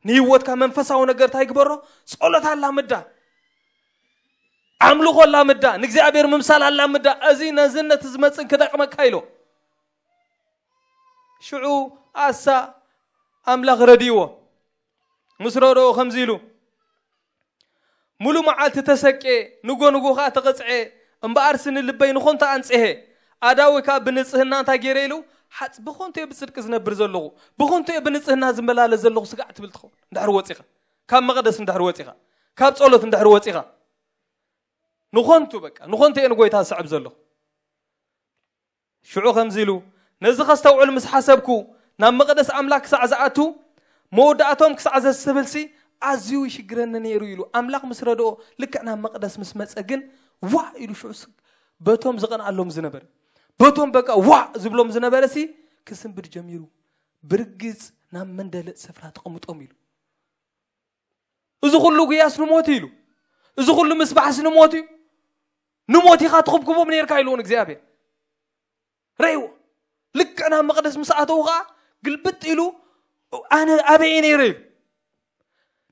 ንህይወትካ መንፈሳዊ ነገር እንታይ ግበሮ? ጸሎት ኣላምዳ፣ ኣምልኾ ኣላምዳ፣ ንእግዚኣብሔር ምምሳል ኣላምዳ። እዚ ነዚ ነቲ ዝመጽእን ክጠቕመካ ኢሎ። ሽዑ ኣሳ ኣምላኽ ረድእዎ። ምስ ረድኦ ከምዚ ኢሉ፣ ሙሉ መዓልቲ ተሰቄ፣ ንጎ ንጎ ኸዓ ተቐጽዐ። እምበኣርሲ ንልበይ ንኾንታ ኣንጽሄ። ኣዳዊ ከኣ ብንጽህና እንታይ ገይረ ኢሉ? ሓጽ-፣ ብኾንቱ እየ ብጽድቂ ዝነብር ዘለኹ፣ ብኾንቱ እየ ብንጽህና ዝመላለስ ዘለኹ ስጋዕ ትብል ትኸውን። እንድሕር ወጺኻ፣ ካብ መቕደስ እንድሕር ወጺኻ፣ ካብ ጸሎት እንድሕር ወጺኻ፣ ንኾንቱ በቃ፣ ንኾንቱ እየ ንጎይታ ዝስዕብ ዘለኹ። ሽዑ ከምዚ ኢሉ፣ ነዚ ኸስተውዕል ምስ ሓሰብኩ፣ ናብ መቕደስ ኣምላኽ ክሳዕ ዝኣቱ፣ መወዳእቶም ክሳዕ ዘስተብህልሲ ኣዝዩ ይሽግረኒ ነይሩ ኢሉ። ኣምላኽ ምስ ረድኦ፣ ልክዕ ናብ መቕደስ ምስ መጸ ግን፣ ዋእ ኢሉ ሽዑ ስ-፣ በቶም ዝቐንኣሎም ዝነበረ፣ በቶም በቃ ዋእ ዝብሎም ዝነበረሲ ክስንብድ ጀሚሩ። ብርግጽ ናብ መንደለጥ ስፍራ ተቐምጦም ኢሉ። እዚ ኩሉ ጉያስ ንሞት ኢሉ፣ እዚ ኩሉ ምስባሕስ ንሞት እዩ። ንሞት ኢኻ ትኹብኩቦም ነይርካ ኢልዎ ንእግዚኣብሔር። ረይዎ። ልክዕ ናብ መቕደስ ምስ ኣተዉ ኸዓ ግልብጥ ኢሉ፣ ኣነ ኣበይ እየ ነይረ ኢሉ።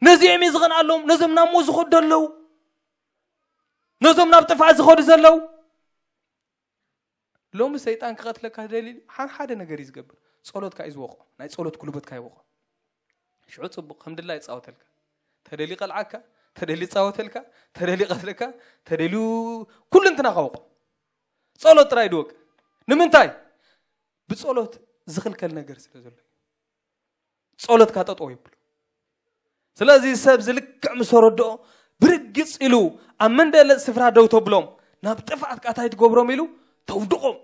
ነዚኦም እየ ዝቐንኣሎም፣ ነዞም ናብ ሞት ዝኸዱ ዘለዉ፣ ነዞም ናብ ጥፍኣት ዝኸዱ ዘለዉ። ሎሚ ሰይጣን ክቐትለካ ደልዩ ሓን ሓደ ነገር እዩ ዝገብር። ጸሎትካ እዩ ዝወቕዖ። ናይ ጸሎት ጉልበትካ ይወቕዖ። ሽዑ ጽቡቕ፣ ከም ድላይ ይጻወተልካ። ተደልዩ ይቐልዓካ፣ ተደልዩ ይጻወተልካ፣ ተደልዩ ይቐትለካ፣ ተደልዩ ኩሉ እንትናኻ ወቕዖ። ጸሎት ጥራይ ድወቅ። ንምንታይ? ብጸሎት ዝኽልከል ነገር ስለ ዘሎ። ጸሎትካ ጠጠው ይብሎ። ስለዚ ሰብ ዝልክዕ ምስ ተረድኦ ብርግጽ ኢሉ ኣብ መንደለጥ ስፍራ ደው ተብሎም፣ ናብ ጥፍኣት ቃታይ ትገብሮም ኢሉ ተውድቖም።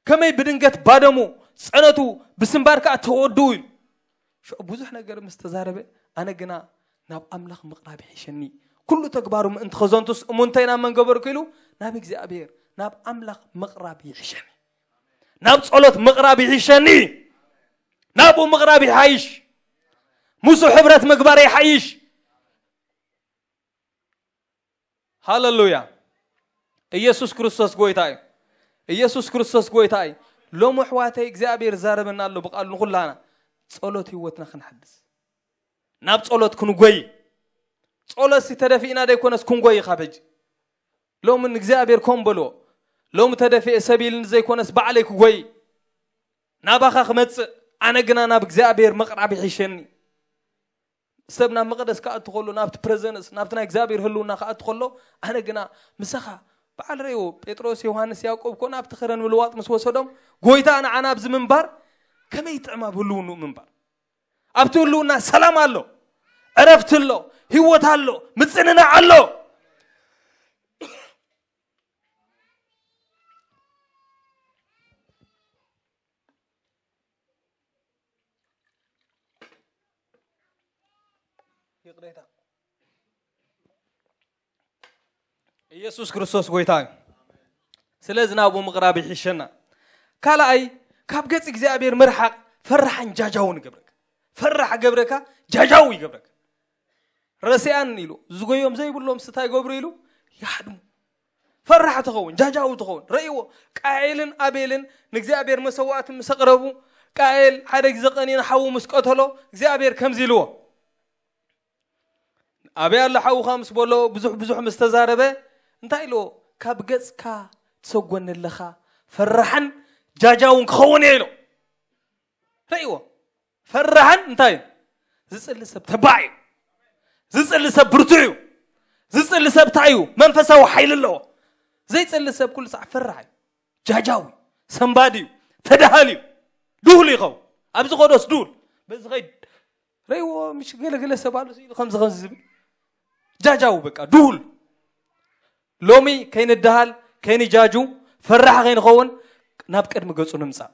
ከመይ ብድንገት ባደሙ፣ ጸነቱ ብስንባር ከኣ ተወድኡ ኢሉ። ሽዑ ብዙሕ ነገር ምስ ተዛረበ፣ ኣነ ግና ናብ ኣምላኽ ምቕራብ ይሕሸኒ። ኩሉ ተግባሩ ምእንቲ ኸዘንቱስ እሙንተይ ናብ መን ገበርኩ ኢሉ፣ ናብ እግዚኣብሔር፣ ናብ ኣምላኽ ምቕራብ ይሕሸኒ። ናብ ጸሎት ምቕራብ ይሕሸኒ። ናብኡ ምቕራብ ይሓይሽ። ምስኡ ሕብረት ምግባር ይሓይሽ። ሃለሉያ። ኢየሱስ ክርስቶስ ጎይታ እዩ። ኢየሱስ ክርስቶስ ጎይታ እዩ። ሎሚ ኣሕዋተይ እግዚኣብሔር ዛረበና ኣሎ ብቃሉ ንኹላና። ጸሎት ህይወትና ክንሓድስ። ናብ ጸሎት ክንጎይ። ጸሎትሲ ተደፊእና ደይኮነስ ክንጎይ ካብ ሕጂ። ሎሚ ንእግዚኣብሔር ከም በልዎ። ሎሚ ተደፊኤ ሰብ ኢልኒ ዘይኮነስ ባዕለይ ክጎይ። ናባኻ ክመጽእ፣ ኣነ ግና ናብ እግዚኣብሔር ምቕራብ ይሕሸኒ። ሰብ ናብ መቕደስ ክኣቱ ከሎ፣ ናብቲ ፕረዘንስ፣ ናብቲ ናይ እግዚኣብሔር ህልውና ክኣቱ ከሎ፣ ኣነ ግና ምሳኻ በዓል ረእይዎ፣ ጴጥሮስ፣ ዮሃንስ፣ ያዕቆብ እኮ ናብቲ ከረን ምልዋጥ ምስ ወሰዶም፣ ጎይታ ንዓና ኣብዚ ምንባር ከመይ ይጥዕም ኣብ ህልውንኡ ምንባር። ኣብቲ ህልውና ሰላም ኣሎ፣ ዕረፍቲ ኣሎ፣ ህይወት ኣሎ፣ ምጽንናዕ ኣሎ። ይቕሬታ። ኢየሱስ ክርስቶስ ጎይታ እዩ። ስለዚ ናብኡ ምቕራብ ይሕሸና። ካልኣይ፣ ካብ ገጽ እግዚኣብሔር ምርሓቕ ፈራሕን ጃጃውን ይገብረካ። ፈራሕ ገብረካ፣ ጃጃው ይገብረካ። ረሲኣን ኢሉ፣ ዝጎዮም ዘይብሎም ስታይ ገብሩ ኢሉ፣ ይሓድሙ። ፈራሕ ትኸውን፣ ጃጃው ትኸውን። ረእይዎ፣ ቃኤልን ኣቤልን ንእግዚኣብሔር መሰዋእቲ ምስ ኣቕረቡ፣ ቃኤል ሓደ ግዜ ቀንዩ ንሓዉ ምስ ቀተሎ፣ እግዚኣብሔር ከምዚ ኢልዎ። ኣበይ ኣሎ ሓውኻ ምስ በሎ፣ ብዙሕ ብዙሕ ምስ ተዛረበ፣ እንታይ ኢልዎ? ካብ ገጽካ ትሰጎኒ ኣለኻ፣ ፈራሕን ጃጃውን ክኸውን እየ ኢሎ። ረእይዎ። ፈራሕን እንታይ እዩ? ዝጽሊ ሰብ ተባዕ እዩ። ዝጽሊ ሰብ ብርቱዕ እዩ። ዝጽሊ ሰብ እንታይ እዩ? መንፈሳዊ ሓይሊ ኣለዎ። ዘይጽሊ ሰብ ኩሉ ሳዕ ፈራሕ እዩ። ጃጃዊ፣ ሰንባዲ እዩ። ተዳሃሊ እዩ። ድሁል ይኸውን። ኣብዚ ኸዶስ ድሁል። በዚ ኸይድ ረይዎ ምሽ ገለገለ ሰብ ኣሎ ኢሉ ከምዚ ከምዚ ዝብል። ጃጃዊ በቃ ድሁል። ሎሚ ከይንደሃል፣ ከይንጃጁ፣ ፈራሕ ከይንኸውን ናብ ቅድሚ ገጹ ንምጻእ።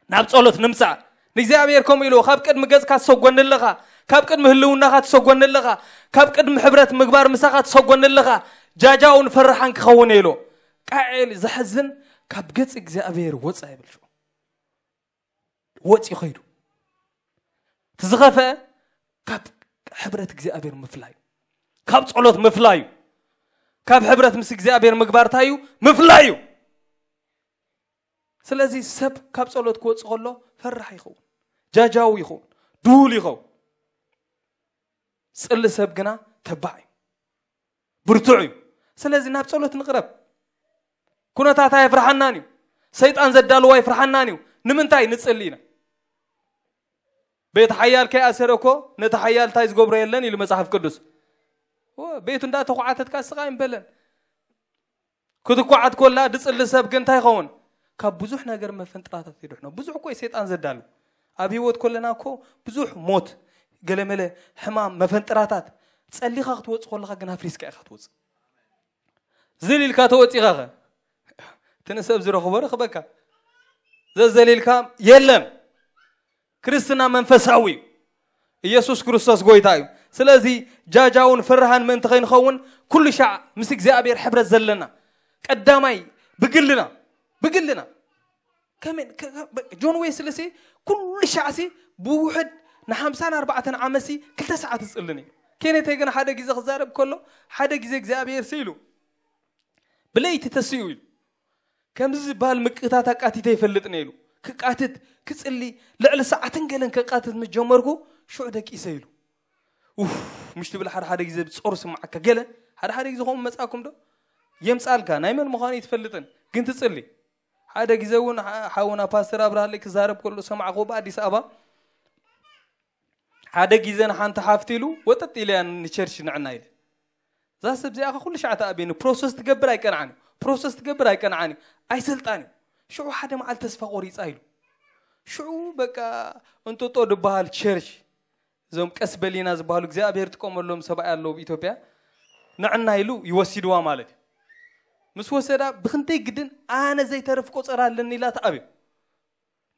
ናብ ጸሎት ንምጻእ። ንእግዚኣብሔር ከምኡ ኢልዎ፣ ካብ ቅድሚ ገጽካ ትሰጎኒ ኣለኻ፣ ካብ ቅድሚ ህልውናኻ ትሰጎኒ ኣለኻ፣ ካብ ቅድሚ ሕብረት ምግባር ምሳኻ ትሰጎኒ ኣለኻ፣ ጃጃውን ፈራሓን ክኸውን እየ ኢልዎ። ቃኤል ዘሕዝን ካብ ገጽ እግዚኣብሔር ወጻ ይብል ሽዑ። ወጺኡ ኸይዱ። እቲ ዝኸፍአ ካብ ሕብረት እግዚኣብሔር ምፍላይ እዩ። ካብ ጸሎት ምፍላይ እዩ። ካብ ሕብረት ምስ እግዚኣብሔር ምግባር እንታይ እዩ? ምፍላይ እዩ። ስለዚ ሰብ ካብ ጸሎት ክወጽእ ከሎ ፈራሕ ይኸውን፣ ጃጃው ይኸውን፣ ድሁል ይኸውን። ጽሊ ሰብ ግና ተባዕ እዩ፣ ብርቱዕ እዩ። ስለዚ ናብ ጸሎት ንቕረብ። ኩነታት ኣይፍርሓናን እዩ። ሰይጣን ዘዳልዎ ኣይፍርሓናን እዩ። ንምንታይ ንጽሊ ኢና? ቤት ሓያል ከይኣሰረ እኮ ነቲ ሓያል እንታይ ዝገብሮ የለን ኢሉ መጽሓፍ ቅዱስ። ኦ፣ ቤቱ እንዳተኳዓተትካ ስቓይ እምበለን ክትኳዓት ኮላ ድጽሊ ሰብ ግን እንታይ ይኸውን? ካብ ብዙሕ ነገር መፈንጥራታት ይድሕኖ። ብዙሕ እኮ እዩ ሰይጣን ዘዳሉ። ኣብ ህይወት ኮለና እኮ ብዙሕ ሞት፣ ገለመለ፣ ሕማም፣ መፈንጥራታት፣ ጸሊኻ ክትወጽእ ኮለኻ ግን ኣፍሪስካ ኢኻ ትወጽእ። ዝል ኢልካ ተወጺኻ ኸ? እቲ ንሰብ ዝረኽቦ ረኽበካ። ዘዘሊልካ የለን። ክርስትና መንፈሳዊ እዩ። ኢየሱስ ክርስቶስ ጎይታ እዩ። ስለዚ ጃጃውን ፍርሃን ምእንቲ ከይንኸውን ኩሉ ሻዕ ምስ እግዚኣብሔር ሕብረት ዘለና ቀዳማይ ብግልና፣ ብግልና ከመይ ከ- ከ- በ- ጆን ዌስሊ ሲ ኩሉ ሻዕ ሲ ብውሕድ ንሓምሳን ኣርባዕተን ዓመት ሲ ክልተ ሰዓት ይጽሊ ነይሩ። ኬኔት ግን ሓደ ግዜ ክዛረብ ከሎ ሓደ ግዜ እግዚኣብሔር ሲ ኢሉ ብለይቲ ተሲኡ ኢሉ ከምዚ ዝበሃል ምቅታት ኣቃቲተ ይፈልጥ ነይሩ። ክቃትት ክጽሊ ልዕሊ ሰዓትን ገለን ከቃትት ምስ ጀመርኩ ሽዑ ደቂሰ ኢሉ። ኡፍ ምሽ ትብል ሓደ ሓደ ግዜ ብጾሩ ስምዓካ ገለ ሓደ ሓደ ግዜ ከምኡ መጻኩም ዶ የምጻልካ ናይ መን ምዃኑ ይትፈልጥን ግን ትጽሊ። ሓደ ግዜ እውን ሓ- ሓውና ፓስተር ኣብርሃለይ ክዛረብ ከሎ ሰማዕኩ ብኣዲስ ኣበባ ሓደ ግዜ ንሓንቲ ሓፍቲ ኢሉ ወጠጥ ኢለያ ንቸርች ንዕና ኢለ እዛ ሰብ እዚኣ ኩሉ ሻዕ ተኣብየኒ ፕሮሰስ ትገብር ኣይቀንዓን እዩ ፕሮሰስ ትገብር ኣይቀንዓን እዩ ኣይሰልጣን እዩ ሽዑ ሓደ መዓል ተስፋ ቆሪፃ ኢሉ ሽዑ በቃ እንጦጦ ድበሃል ቸርች እዞም ቀስ በሊና ዝበሃሉ እግዚኣብሔር ጥቀመሎም ሰብኣይ ኣለዉ ኣብ ኢትዮጵያ ንዕና ኢሉ ይወሲድዋ ማለት እዩ ምስ ወሰዳ ብክንደይ ግድን ኣነ ዘይተርፍ ቆፀር ኣለኒ ኢላ ተኣብዮ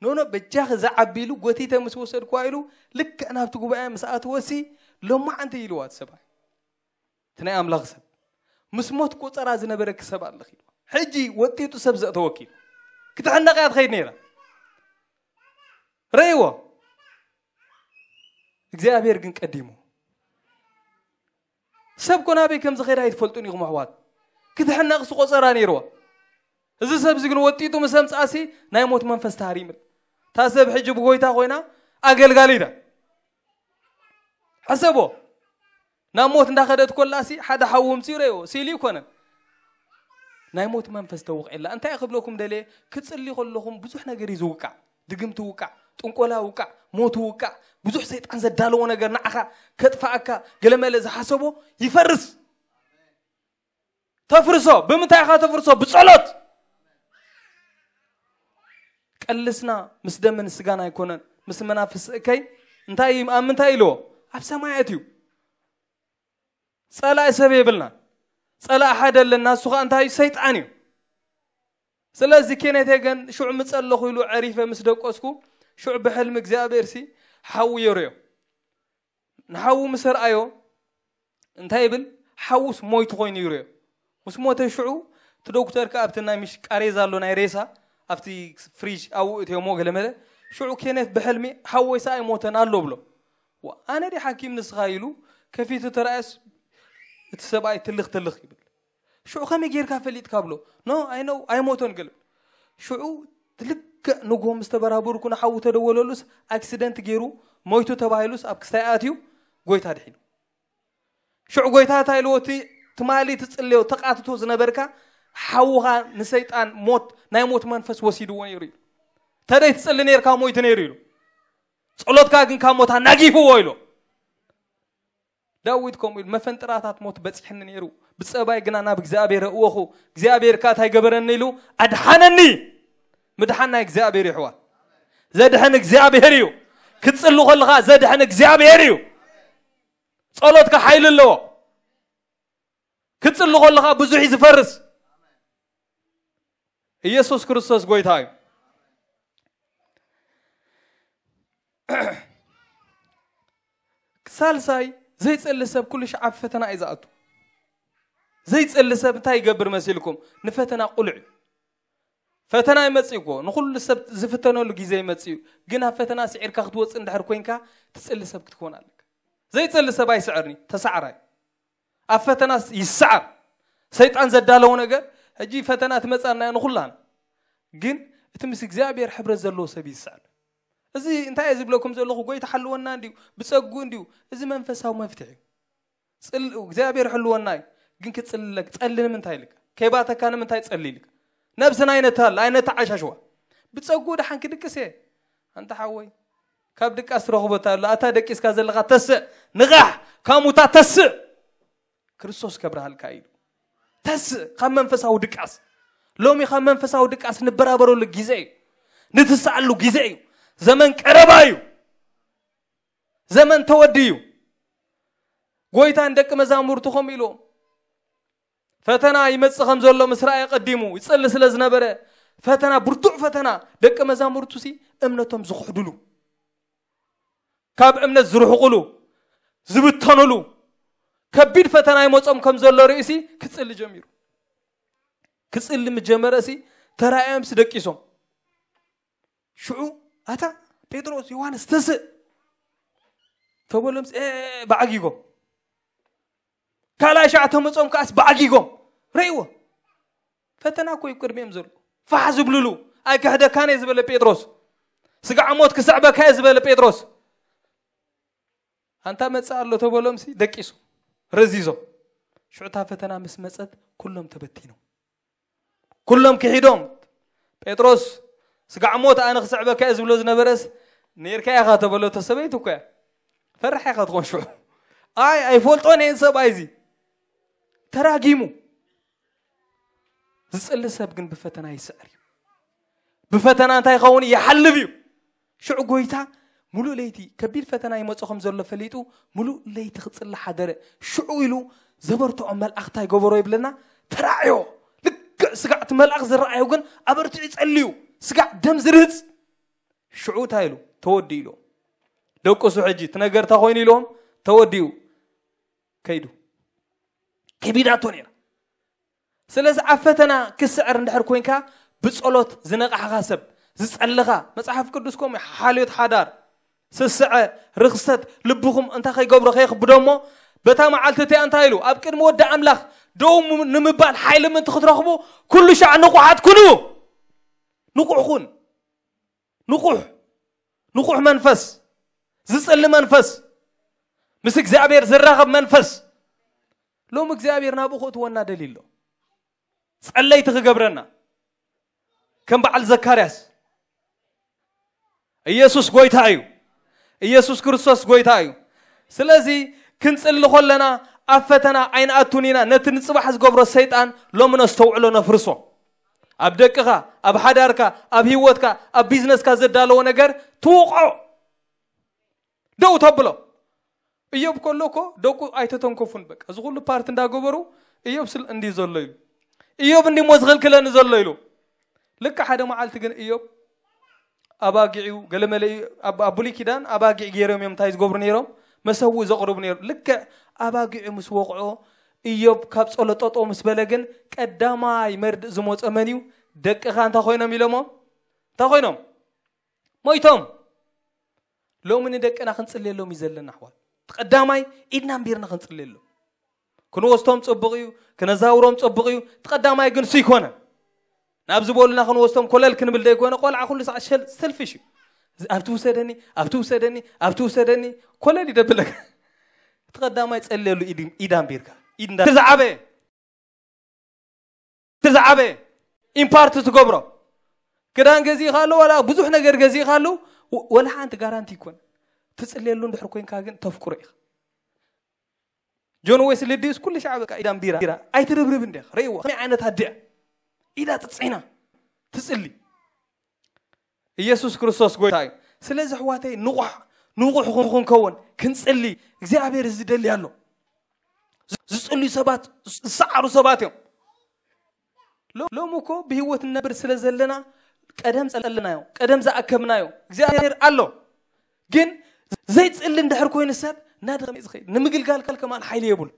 ኖኖ በጃኺ ዝዓቢ ኢሉ ጎቲተ ምስ ወሰድክዋ ኢሉ ልክዕ ናብቲ ጉባኤ ምስ ኣትወሲ ሎማዓንቲ ኢልዋ እቲ ሰብኣይ እቲ ናይ ኣምላኽ ሰብ ምስ ሞት ቆፀራ ዝነበረኪ ሰብ ኣለኺ ኢልዋ ሕጂ ወጢጡ ሰብ ዘእተወኪ ኢሉ ክትሕነቕ እያ ትኸይድ ነይራ ረእይዎ እግዚኣብሔር ግን ቀዲሙ ሰብ ኮ ናበይ ከም ዝኸይድ ኣይትፈልጡን ኢኹም ኣሕዋት ክትሕነቕ ስቆፀራ ነይርዋ እዚ ሰብ እዚ ግን ወጢጡ ምስ ኣምፅኣሲ ናይ ሞት መንፈስ ተሃሪምል እታ ሰብ ሕጂ ብጎይታ ኮይና ኣገልጋሊት እያ ሕሰቦ ናብ ሞት እንዳኸደት ኮላሲ ሓደ ሓዉ ምፅኡ ረእዎ ሲሉ ይኮነን ናይ ሞት መንፈስ ተውቕዕላ እንታይ ክብለኩም ደልየ ክፅሊ ከለኹም ብዙሕ ነገር እዩ ዝውቃዕ ድግምቲ ውቃዕ ጥንቆላ ውቃዕ ሞት ውቃዕ ብዙሕ ሰይጣን ዘዳለዎ ነገር ንዓኻ ከጥፋኣካ ገለመለ ዝሓሰቦ ይፈርስ ተፍርሶ ብምንታይ ኢኻ ተፍርሶ ብጸሎት ቀልስና ምስ ደምን ስጋን ኣይኮነን ምስ መናፍስ እከይ እንታይ ኣብ ምንታይ ኢልዎ ኣብ ሰማያት እዩ ጸላኢ ሰብ የብልና ጸላኢ ሓደ ኣለና እሱ ከዓ እንታይ እዩ ሰይጣን እዩ ስለዚ ኬኔት ሄገን ሽዑ ምጸለኹ ኢሉ ዕሪፈ ምስ ደቆስኩ ሽዑ ብሕልሚ እግዚኣብሔር ሲ ሓዊ የርዮ ንሓዉ ምስ ኣርኣዮ እንታይ ይብል ሓዉስ ሞይቱ ኮይኑ ይርዮ ምስ ሞተ ሽዑ እቲ ዶክተር ከኣ ኣብቲ ናይ ምሽ ቃሬዛ ኣሎ ናይ ሬሳ ኣብቲ ፍሪጅ ኣብኡ እትዮሞ ገለመለ ሽዑ ኬኔት ብሕልሚ ሓወይሳ ኣይሞተን ኣሎ ብሎ ኣነ ዲ ሓኪም ንስኻ ኢሉ ከፊቱ ተራእየስ እቲ ሰብኣይ ትልኽ ትልኽ ይብል ሽዑ ከመይ ጌርካ ፈሊጥካ ብሎ ኖ ኣይነው ኣይሞቶን ገለ ሽዑ ልክዕ ንጎ ምስ ተበራበርኩ ንሓዉ ተደወለሉስ ኣክሲደንት ገይሩ ሞይቱ ተባሂሉስ ኣብ ክስታይ ኣትዩ ጎይታ ድሒኑ ሽዑ ጎይታ እንታይ ኢልዎ እቲ ትማሊ ትጽልዮ ተቃትቶ ዝነበርካ ሓውኻ ንሰይጣን ሞት ናይ ሞት መንፈስ ወሲድዎ ነይሩ እዩ ተደይ ትጽሊ ነርካ ሞይቱ ነይሩ ኢሉ ጸሎትካ ግን ካብ ሞት ኣናጊፍዎ ኢሉ ዳዊት ከምኡ ኢሉ መፈንጥራታት ሞት በጺሕኒ ነይሩ ብጸባይ ግና ናብ እግዚኣብሔር እወኹ እግዚኣብሔር ከኣ እንታይ ገበረኒ ኢሉ ኣድሓነኒ ምድሓን ናይ እግዚኣብሔር ይሕዋት ዘድሕን እግዚኣብሔር እዩ ክትጽሉ ከለኻ ዘድሕን እግዚኣብሔር እዩ ጸሎትካ ሓይሊ ኣለዎ ክትጽሉ ከለኻ ብዙሕ እዩ ዝፈርስ ኢየሱስ ክርስቶስ ጎይታ እዩ ሳልሳይ ዘይጸሊ ሰብ ኩሉ ሻዕ ኣብ ፈተና እዩ ዝኣቱ ዘይጸሊ ሰብ እንታይ ይገብር መሲልኩም ንፈተና ቁልዕ እዩ ፈተና ይመጽእ እኮ፣ ንኹሉ ሰብ ዝፍተነሉ ግዜ ይመጽእ እዩ። ግን ኣብ ፈተና ስዒርካ ክትወጽእ እንድሕር ኮይንካ፣ ትጽሊ ሰብ ክትኮን ኣለካ። ዘይጽሊ ሰብ ኣይስዕርኒ፣ ተሳዕራይ። ኣብ ፈተና ይስዓር። ሰይጣን ዘዳለዎ ነገር፣ ሕጂ ፈተና ትመጻና እያ ንኹላን። ግን እቲ ምስ እግዚኣብሔር ሕብረት ዘለዎ ሰብ ይስዓር። እዚ እንታይ እየ ዝብለኩም ዘለኹ? ጎይታ ሓልወና እንድዩ፣ ብጸጉ እንድዩ። እዚ መንፈሳዊ መፍትሒ እዩ። ጽል-፣ እግዚኣብሔር ሕልወና እዩ። ግን ክጽልለክ፣ ጸሊ ንምንታይ ኢልካ? ከይባተካ ንምንታይ ጸሊ ኢልካ? ነብስና ኣይነታል፣ ኣይነተዓሻሽዋ። ብጸጉ ደሓን ክድቅስ እየ። ኣንታ ሓወይ፣ ካብ ድቃስ ትረኽቦ እንታይ ኣሎ? ኣታ ደቂስካ ዘለኻ ተስእ፣ ንቓሕ፣ ካብ ሙታ ተስእ። ክርስቶስ ከብርሃልካ እዩ። ተስእ፣ ካብ መንፈሳዊ ድቃስ። ሎሚ ካብ መንፈሳዊ ድቃስ ንበራበረሉ ግዜ እዩ። ንትስኣሉ ግዜ እዩ። ዘመን ቀረባ እዩ። ዘመን ተወዲ እዩ። ጎይታ ንደቂ መዛሙርቱ ከምኡ ኢልዎም፣ ፈተና ይመጽእ ከም ዘሎ ምስ ረኣየ ቀዲሙ ይጸሊ ስለ ዝነበረ፣ ፈተና፣ ብርቱዕ ፈተና፣ ደቂ መዛሙርቱ ሲ እምነቶም ዝኽሕድሉ፣ ካብ እምነት ዝርሕቁሉ፣ ዝብተኑሉ፣ ከቢድ ፈተና ይመጾም ከም ዘሎ ርእሲ ክጽሊ ጀሚሩ። ክጽሊ ምስ ጀመረ ሲ ተራእዮም ሲ ደቂሶም። ሽዑ ኣታ ጴጥሮስ፣ ዮሃንስ፣ ተስእ ተበሎም፣ ሲ፣ እ፣ ባዕጊጎም። ካልኣይ ሻዕ ተመጾም ከኣስ ባዕጊጎም። ረእይዎ። ፈተና እኮ እዩ ቅድሚኦም ዘሎ። ፋሕ ዝብልሉ፣ ኣይክሕደካን እየ ዝበለ ጴጥሮስ። ስጋዕ ሞት ክስዕበካ እየ ዝበለ ጴጥሮስ። ኣንታ መጽእ ኣሎ ተበሎም ሲ ደቂሶም፣ ረዚዞም። ሽዑ እታ ፈተና ምስ መጸት ኩሎም ተበቲኖም። ኩሎም ክሒዶም። ጴጥሮስ፣ ስጋዕ ሞት ኣነ ክስዕበካ እየ ዝብሎ ዝነበረስ፣ ነይርካ ኢኻ ተበለቶ ሰበይቱ እኮ እያ። ፈራሕ ኢኻ ትኾን ሽዑ። ኣይ፣ ኣይፈልጦን እየን ሰብኣይ እዚ። ተራጊሙ። ዝጽሊ ሰብ ግን ብፈተና ይስዕር እዩ። ብፈተና እንታይ ይኸውን? ይሓልፍ እዩ። ሽዑ ጎይታ ሙሉእ ለይቲ ከቢድ ፈተና ይመጾ ከም ዘሎ ፈሊጡ፣ ሙሉእ ለይቲ ክጽሊ ሓደረ። ሽዑ ኢሉ ዘበርትዖ መልኣኽ እንታይ ገበሮ ይብለና? ተራእዮ። ልክዕ ስጋዕ እቲ መልኣኽ ዝረኣዮ ግን ኣበርቲዑ ይጸሊ እዩ። ስጋዕ ደም ዝርህጽ። ሽዑ እንታይ ኢሉ? ተወዲኡ ኢሉ። ደቅሱ ሕጂ፣ እቲ ነገር እንታይ ኮይኑ ኢልዎም? ተወዲኡ። ከይዱ። ከቢዳቶ ነይራ። ስለዚ ኣብ ፈተና ክስዕር እንድሕር ኮይንካ፣ ብጸሎት ዝነቓሕኻ ሰብ፣ ዝጸልኻ፣ መጽሓፍ ቅዱስ ከምኡ እዩ፣ ሓልዮት ሓዳር፣ ስስዐ፣ ርኽሰት፣ ልብኹም እንታይ ከይገብሮ ከይኽብዶ እሞ፣ በታ መዓልቲ እቲኣ እንታይ ኢሉ? ኣብ ቅድሚ ወዲ ኣምላኽ ደው ም-፣ ንምባል ሓይሊ ምእንቲ ክትረኽቡ፣ ኩሉ ሻዕ ንቑሓት ኩኑ። ንቑሕ ኩን። ንቑሕ። ንቑሕ መንፈስ። ዝጽሊ መንፈስ። ምስ እግዚኣብሔር ዝራኸብ መንፈስ። ሎም እግዚኣብሔር ናብኡ ክእትወና ደልዩ ኣሎ። ጸለይቲ ክገብረና። ከም በዓል ዘካርያስ። ኢየሱስ ጎይታ እዩ። ኢየሱስ ክርስቶስ ጎይታ እዩ። ስለዚ ክንጽሊ ከለና ኣብ ፈተና ኣይንኣቱን ኢና። ነቲ ንጽባሕ ዝገብሮ ሰይጣን ሎሚ ነስተውዕሎ፣ ነፍርሶ። ኣብ ደቅኻ፣ ኣብ ሓዳርካ፣ ኣብ ህይወትካ፣ ኣብ ቢዝነስካ ዘዳለዎ ነገር ትውቕዖ። ደው ተብሎ። እዮብ ከሎ እኮ ደቁ ኣይተተንከፉን። በቃ እዚ ኩሉ ፓርቲ እንዳገበሩ እዮብ ስል እንዲ ዘሎ ኢሉ። እዮብ እንዲሞ ዝኽልክለኒ ዘሎ ኢሉ። ልክዕ ሓደ መዓልቲ ግን እዮብ ኣባጊዑ ገለመለ እዩ። ኣብ፣ ኣብ ብሉይ ኪዳን ኣባጊዕ ገይሮም እዮም እንታይ ዝገብሩ ነይሮም? መሰውእ ዘቕርቡ ነይሮም። ልክዕ ኣባጊዑ ምስ ወቕዖ እዮብ ካብ ጸሎት ጠጠው ምስ በለ ግን ቀዳማይ መርድእ ዝመጾ መን እዩ? ደቅኻ እንታይ ኮይኖም ኢሎሞ? እንታይ ኮይኖም? ሞይቶም። ሎሚ ንደቅና ክንጽልየሎም እዩ ዘለና ኣሕዋት። እቲ ቀዳማይ ኢድና ኣንቢርና ክንጽልየሎም። ክንወስቶም ጽቡቕ እዩ፣ ክነዛውሮም ጽቡቕ እዩ። እቲ ቀዳማይ ግን እሱ ይኮነ። ናብ ዝበሉና ክንወስቶም ኮለል ክንብል ዘይኮነ፣ ቆልዓ ኩሉ ሰዓት ሸል-፣ ሰልፊሽ እዩ። እዚ ኣብቲ ውሰደኒ፣ ኣብቲ ውሰደኒ፣ ኣብቲ ውሰደኒ፣ ኮለል ይደብለካ። እቲ ቀዳማይ ጸልየሉ ኢድ፣ ኢድ ኣንቢርካ። ኢድ እንዳ-፣ እቲ ዝዓበየ፣ እቲ ዝዓበየ ኢምፓርት ትገብሮ። ክዳን ገዚእካ ኣሎ፣ ዋላ ብዙሕ ነገር ገዚእካ ኣሎ፣ ወ-፣ ወላ ሓንቲ ጋራንቲ ይኮን። ትጽልየሉ እንድሕር ኮይንካ ግን ተፍቅሮ ኢኻ። ጆን ዌስሊ ድዩስ ኩሉ ሻዕ በቃ ኢዳ ኣንቢራ፣ ኣይትርብርብ እንዲኻ። ርእይዋ፣ ከመይ ዓይነት ኣዲኣ። ኢዳ ጥጽዒና ትጽሊ። ኢየሱስ ክርስቶስ ጎይታ እዩ። ስለዚ ኣሕዋተይ ንቑሕ፣ ንቑሕ ክንከውን፣ ክንጽሊ፣ እግዚኣብሔር እዚ ደልያ ኣሎ። ዝጽልዩ ሰባት፣ ዝሰዓሩ ሰባት እዮም። ሎ-፣ ሎሚ እኮ ብህይወት ንነብር ስለ ዘለና ቀደም ጸለናዮ፣ ቀደም ዝኣከብናዮ እግዚኣብሔር ኣሎ። ግን ዘይጽሊ እንድሕር ኮይኑ ሰብ ናድኸም እዩ ዝኸይድ። ንምግልጋል ከማን ሓይሊ የብሉ።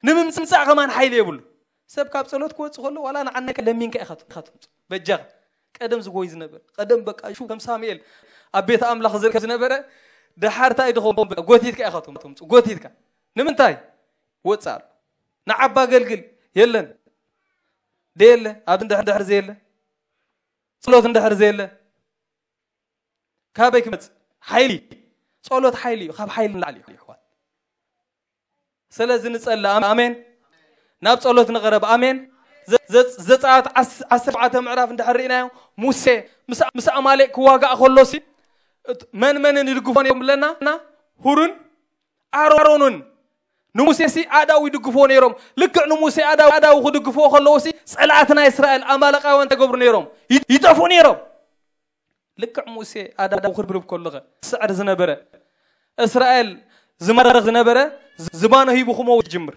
ንምምጻእ ከማን ሓይሊ የብሉ። ሰብ ካብ ጸሎት ክወጽእ ከሎ ዋላ ንዓናይ ለሚንካ ኢኻ ት-፣ ኢኻ ትምጽእ። በጃኻ። ቀደም ዝጎይ ዝነበረ ቀደም በቃ ሹ ከም ሳሙኤል ኣብ ቤት ኣምላኽ ዝርከብ ዝነበረ፣ ደሓር እንታይ ድኸውን? ጎቲትካ ኢኻ ትምፁ ጎቲትካ። ንምንታይ ወፅእ ኣሎ? ንዓባ ኣገልግል የለን ደየለ ኣብ እንድሕር እንድሕር ዘየለ ጸሎት እንድሕር ዘየለ ካበይ ክመጽእ ሓይሊ? ጸሎት ሓይሊ እዩ። ካብ ሓይሊ ንላዕሊ እዩ ኣሕዋት። ስለዚ ንጸሊ። ኣሜን። ናብ ጸሎት ንቕረብ። ኣሜን። ዘ- ዘ- ዘጸኣት ዓስ- ዓሰርተ ኣርባዕተ ምዕራፍ እንድሕር ርኢናዮ፣ ሙሴ ምስ ምስ ኣማሌቅ ክዋጋእ ከሎሲ እት- መን መንን ይድግፎ ነይሮም ብለና? ሁርን ኣሮንን ንሙሴ ሲ ኣዳው ይድግፍዎ ነይሮም። ልክዕ ንሙሴ ኣዳው ኣዳው ክድግፍዎ ከለዉ ሲ ጸላእቲ ናይ እስራኤል ኣማለቃውያን ተገብሩ ነይሮም። ይ- ይጠፍኡ ነይሮም። ልክዕ ሙሴ ኣዳው ክርብርብ ከሎ ኸ ስዕር ዝነበረ እስራኤል ዝማረኽ ዝነበረ ዝባኖ ሂቡ ክመውት ይጅምር።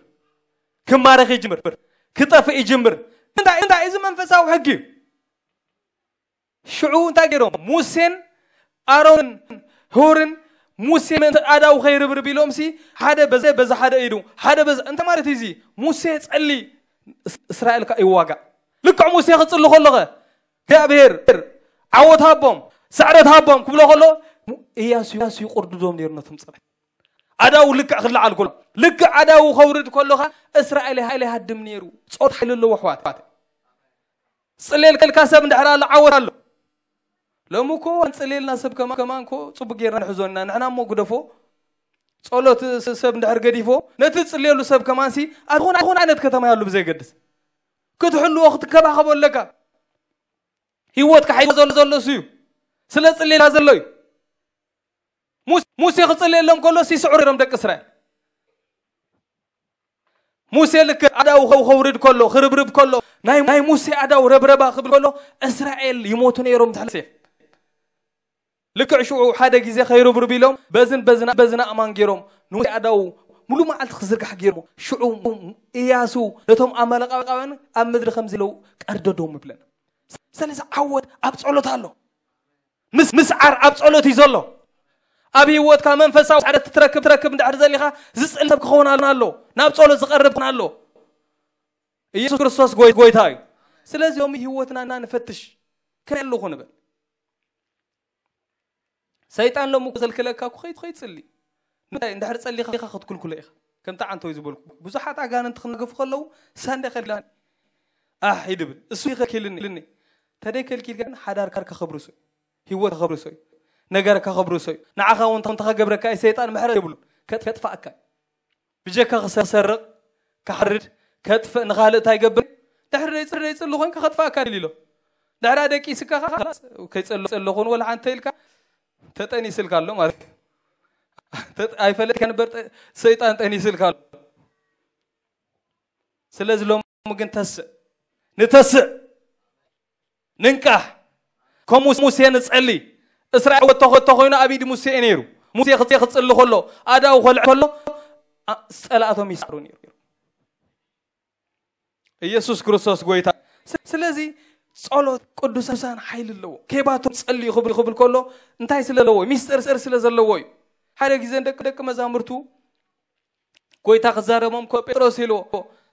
ክማረኽ ይጅምር። ክጠፍእ ይጅምር። እንታይ እንታይ እዚ መንፈሳዊ ሕጊ እዩ። ሽዑ እንታይ ገይሮም? ሙሴን ኣሮንን ሁርን ሙሴ ምእንቲ ኣዳው ከይርብርብ ኢሎም ሲ ሓደ በዘ በዛ ሓደ ኢዱ ሓደ በዛ እንታይ ማለት እዩ? እዚ ሙሴ ጸሊ እስ- እስራኤል ከ ይዋጋእ። ልክዕ ሙሴ ክጽሊ ከሎ ኸ እግዚኣብሔር ዓወት ሃቦም ስዕረት ሃቦም ክብሎ ከሎ እያሱ እያሱ ይቁርድዶም ነይሩ ነቶም ጸላእቲ። ኣዳው ልክዕ ክለዓል ከሎ ልክዕ ኣዳው ከውርድ ከሎ ኸ እስራኤል ሓይሊ ሃድም ነይሩ። ጾት ሓይሊ ኣለዎ ኣሕዋት። ጽሌልካ ሰብ እንድሕር ኣሎ ዓወት ኣሎ። ሎሚ እኮ እንጽሌልና ሰብ ከማን ከማን እኮ ጽቡቅ ጌርና ንሕዞ ኢና ንሕና እሞ ግደፎ። ጸሎት ስ- ሰብ እንድሕር ገዲፎ ነቲ ጽሌሉ ሰብ ከማን ሲ ኣትኾን ኣትኾን ዓይነት ከተማ ያሉ ብዘይገድስ ክትሕልዎ ክትከባኸቦ ኣለካ። ህይወትካ ሓይሎ ዘሎ ዘሎ እሱ እዩ። ስለ ጽሌላ ዘሎ እዩ። ሙስ- ሙሴ ክጽልየሎም ከሎ ሲስዑ ሮም ደቂ እስራኤል። ሙሴ ልክ ኣዳው ከው- ከውርድ ከሎ ክርብርብ ከሎ ናይ ናይ ሙሴ ኣዳው ረብረባ ክብል ከሎ እስራኤል ይሞቱ ነይሮም። ትሕልሴ ልክዕ ሽዑ ሓደ ግዜ ከይርብርብ ኢሎም በዝን በዝና በዝና ኣማን ገይሮም ንሙሴ ኣዳው ሙሉ መዓልቲ ክዝርጋሕ ገይሮም። ሽዑ እያሱ ነቶም ኣማለቃውያን ኣብ ምድሪ ከም ዝለው ቀርደዶም ይብለና። ስለዚ ዓወት ኣብ ጸሎት ኣሎ። ምስ ምስዓር ኣብ ጸሎት እዩ ዘሎ። ኣብ ህይወትካ መንፈሳዊ ዓደት ትረክብ ትረክብ እንድሕር ዘሊኻ ዝጽል ሰብ ክኸውን ኣሎ። ናብ ጸሎት ዝቐርብ ክኸውን ኣሎ። ኢየሱስ ክርስቶስ ጎይ- ጎይታ እዩ። ስለዚ ሎሚ ህይወትና ንፈትሽ። ከመይ ኣለኹ ንበል። ሰይጣን ሎሚ እኮ ዘልክለካ እኮ ከይት ከይት ጽሊ እንታይ እንድሕር ጸሊኻ ክትክልክሎ ኢኻ። ከምቲ ዓንተው ዝበልኩ ብዙሓት ኣጋንንቲ ክነገፉ ከለዉ ሳንደ ከልኪላኒ ኣሕ ይድብል እሱ ይኸልኪልኒ ኢልኒ። ተደይ ከልኪልካ ሓዳርካ ከብርሶ እዩ። ህይወት ከብርሶ እዩ። ነገርካ ከብርሶ እዩ። ንዓኻ እውን ተኸገብረካ እዩ። ሰይጣን ምሕረት የብሉን። ከጥ- ከጥፋእካ እዩ። ብጀካ ክሰርቕ ክሓርድ ከጥፍእ ንኻልእ እንታይ ይገብር? ድሕሪ ደይጽ- ደይጽሊ ኮይንካ ከጥፋእካ ድል ኢሎ ድሕራ ደቂስካ ከይጸሎ ጸሎ ኹን ወላ ሓንተ ኢልካ ተጠኒስልካ ኣሎ ማለት እዩ። ተጥ- ኣይፈለጥካ ነበር ጠ- ሰይጣን ጠኒስልካ ኣሎ። ስለዚ ሎም ግን ተስእ ንተስእ ንንቃሕ። ከም ሙስ- ሙሴ ንጸሊ። እስራኤል ወጥቶ ወጥቶ ኮይኑ ኣብ ኢድ ሙሴ እዩ ነይሩ። ሙሴ ክጽ- ክጽሊ ከሎ ኣዳው ከልዕ ከሎ ኣ- ጸላእቶም ይስሩ ነይሩ። ኢየሱስ ክርስቶስ ጎይታ። ስ- ስለዚ ጸሎት ቅዱሳን ሓይሊ ኣለዎ። ከይባቶም ጸልዩ ክብል ክብል ከሎ እንታይ ስለ ዘለዎ? ሚስጥር ስር ስለ ዘለዎ እዩ። ሓደ ግዜ ደቂ ደቂ መዛሙርቱ ጎይታ ክዛረቦም ኮ ጴጥሮስ ኢልዎ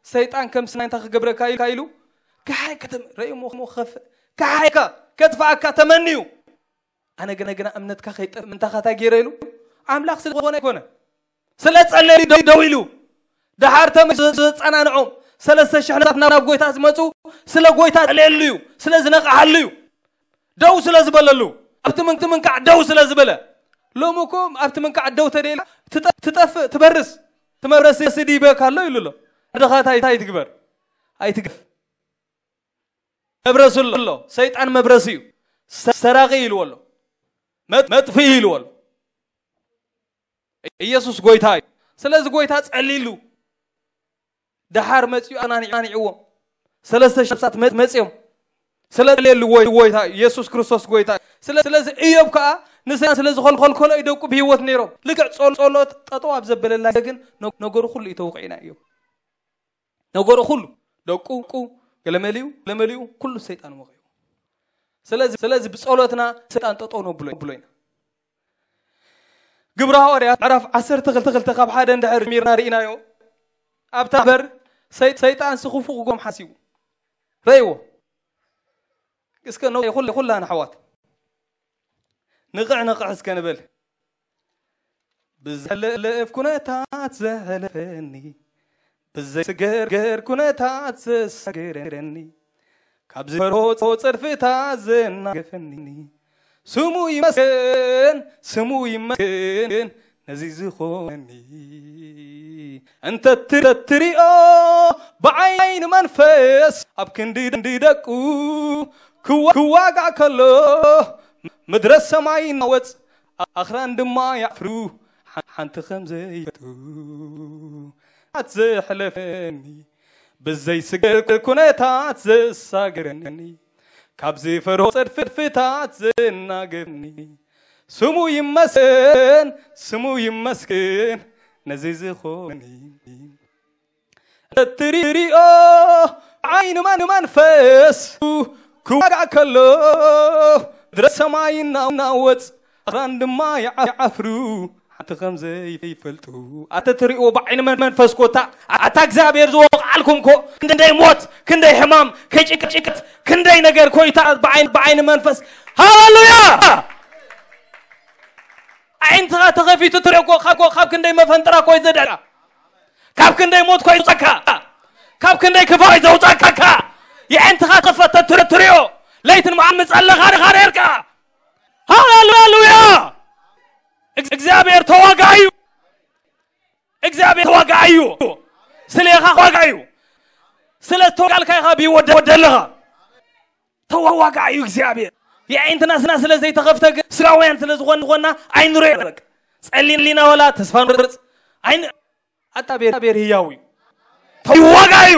ሰይጣን ከም ስናይ እንታይ ክገብረካ ኢልካ ኢሉ ከሓይ ከተም ረእሞ ከፍ ከሓይካ ከጥፋእካ ተመንዩ ኣነ ግና ግና እምነትካ ከይጠ ምንታኻ እንታይ ገይረ ኢሉ ኣምላኽ ስለ ዝኾነ ኣይኮነ ስለ ጸለዩ ደው ደው ኢሉ ደሓር ተመ ዘጸናንዖም ሰለስተ ሽሕ ናብ ናብ ጎይታ ዝመጹ ስለ ጎይታ ጸለየሉ እዩ ስለ ዝነቕሓሉ እዩ ደው ስለ ዝበለሉ ኣብቲ ምንክ ምንካዕ ደው ስለ ዝበለ ሎሚ እኮ ኣብቲ ምንካዕ ደው ተደይላ ትጠ- ትጠፍእ ትበርስ ትመብረስ ስዲ ይበካ ኣሎ ኢሉ ኣሎ ድኻ ታይ ታይ ትግበር ኣይትግፍ መብረስ ኣሎ ሰይጣን መብረስ እዩ ሰ- ሰራቂ ኢልዎ ኣሎ መጥ- መጥፍኢ ኢልዎ ኣሎ ኢየሱስ ጎይታ እዩ ስለዚ ጎይታ ጸሊሉ ደሓር መጺኡ ኣናኒዕዎም ሰለስተ ሺህ ነፍሳት መ- መጺኦም ስለ ሌሉ ወይ ጎይታ ኢየሱስ ክርስቶስ ጎይታ እዩ። ስለ ስለዚ እዮብ ከኣ ንሰይጣን ስለ ዝኸልከሎ እዩ ደቁ ብህይወት ነይሮም። ልክዕ ጾል ጾሎት ጠጠው ኣብ ዘበለላ ግን ነ- ነገሩ ኩሉ እዩ ተወቂዕና እዩ። ነገሩ ኩሉ ደቁ ቁ ገለመሊኡ ገለመሊኡ ኩሉ ሰይጣን ወቂዑ። ስለዚ ስለዚ ብጸሎትና ሰይጣን ጠጠው ነብሎ ብሎ ኢና። ግብረ ሃዋርያት ምዕራፍ ዓሰርተ ክልተ ካብ ሓደ እንድሕር ጀሚርና ርኢናዮ ኣብታ በር ሰይ- ሰይጣን ስኽፉ ክጎም ሓሲቡ ረእይዎ እስከ ኩላን ኣሕዋት ንቕዕ ንቕዕ እስከ ንበል። ብዘለፍ ኩነታት ዘሕለፈኒ፣ ብዘይስገርገር ኩነታት ዘሳገረኒ፣ ካብ ዝፈርሆ ጸድፍታት ዘናገፈኒ፣ ስሙ ይመስገን፣ ስሙ ይመስገን ነዚ ዝኾነኒ። እንተ ትር- ትሪኦ ብዓይኒ መንፈስ ኣብ ክንዲ ደቁ ክዋ- ክዋጋእ ከሎ፣ ምድረ ሰማይ ናወጽ ኣኽራን ድማ ያፍሩ ሓንቲ ከም ዘይፈቱ ኣት ዘሕለፈኒ ብዘይስገር ኩነታት ዘሳገረኒ ካብ ዝፈርሆ ጸድፍታት ዘናገርኒ ስሙ ይመስገን ስሙ ይመስገን ነዚ ዝኾኒ እትሪኦ ዓይኒ መን መንፈስ ክዋጋእ ከሎ ድረ ሰማይ እናወጽ ኣኽራን ድማ ይዓፍሩ ሓንቲ ከም ዘይፈልጡ ኣተ ትሪኦ ብዓይኒ መን መንፈስ ኮታ ኣታ እግዚኣብሔር ዝወቕዓልኩም ኮ ክንደይ ሞት ክንደይ ሕማም ከጭቅጭቅት ክንደይ ነገር ኮይታ ብዓይኒ ብዓይኒ መንፈስ ሃሌሉያ ዓይንትኻ ተኸፊቱ ትሪኦ ኮ ካብ ኮ ካብ ክንደይ መፈንጥራ ኮይ ዘደራ ካብ ክንደይ ሞት ኮይ ዘውፀካ ካብ ክንደይ ክፋይ ዘውፀካ የዕንትኻ ተፈተ ትሪኦ ለይትን መዓል ምፀለኻ ርኻ ነርካ ሃሌሉያ እግዚኣብሔር ተዋጋዩ እግዚኣብሔር ተዋጋዩ ስሌኻ ዋጋዩ ስለ ተዋጋልካ ኢኻ ብይወደለኻ ተዋጋዩ እግዚኣብሔር የዕንትና ስና ስለ ዘይተኸፍተ ግን ስጋውያን ስለ ዝኾን ዝኾና ኣይንሪኦ በቃ ጸሊና ወላ ተስፋ ንርጽ ኣይን ኣታ ቤር ቤር ህያው እዩ ተዋጋዩ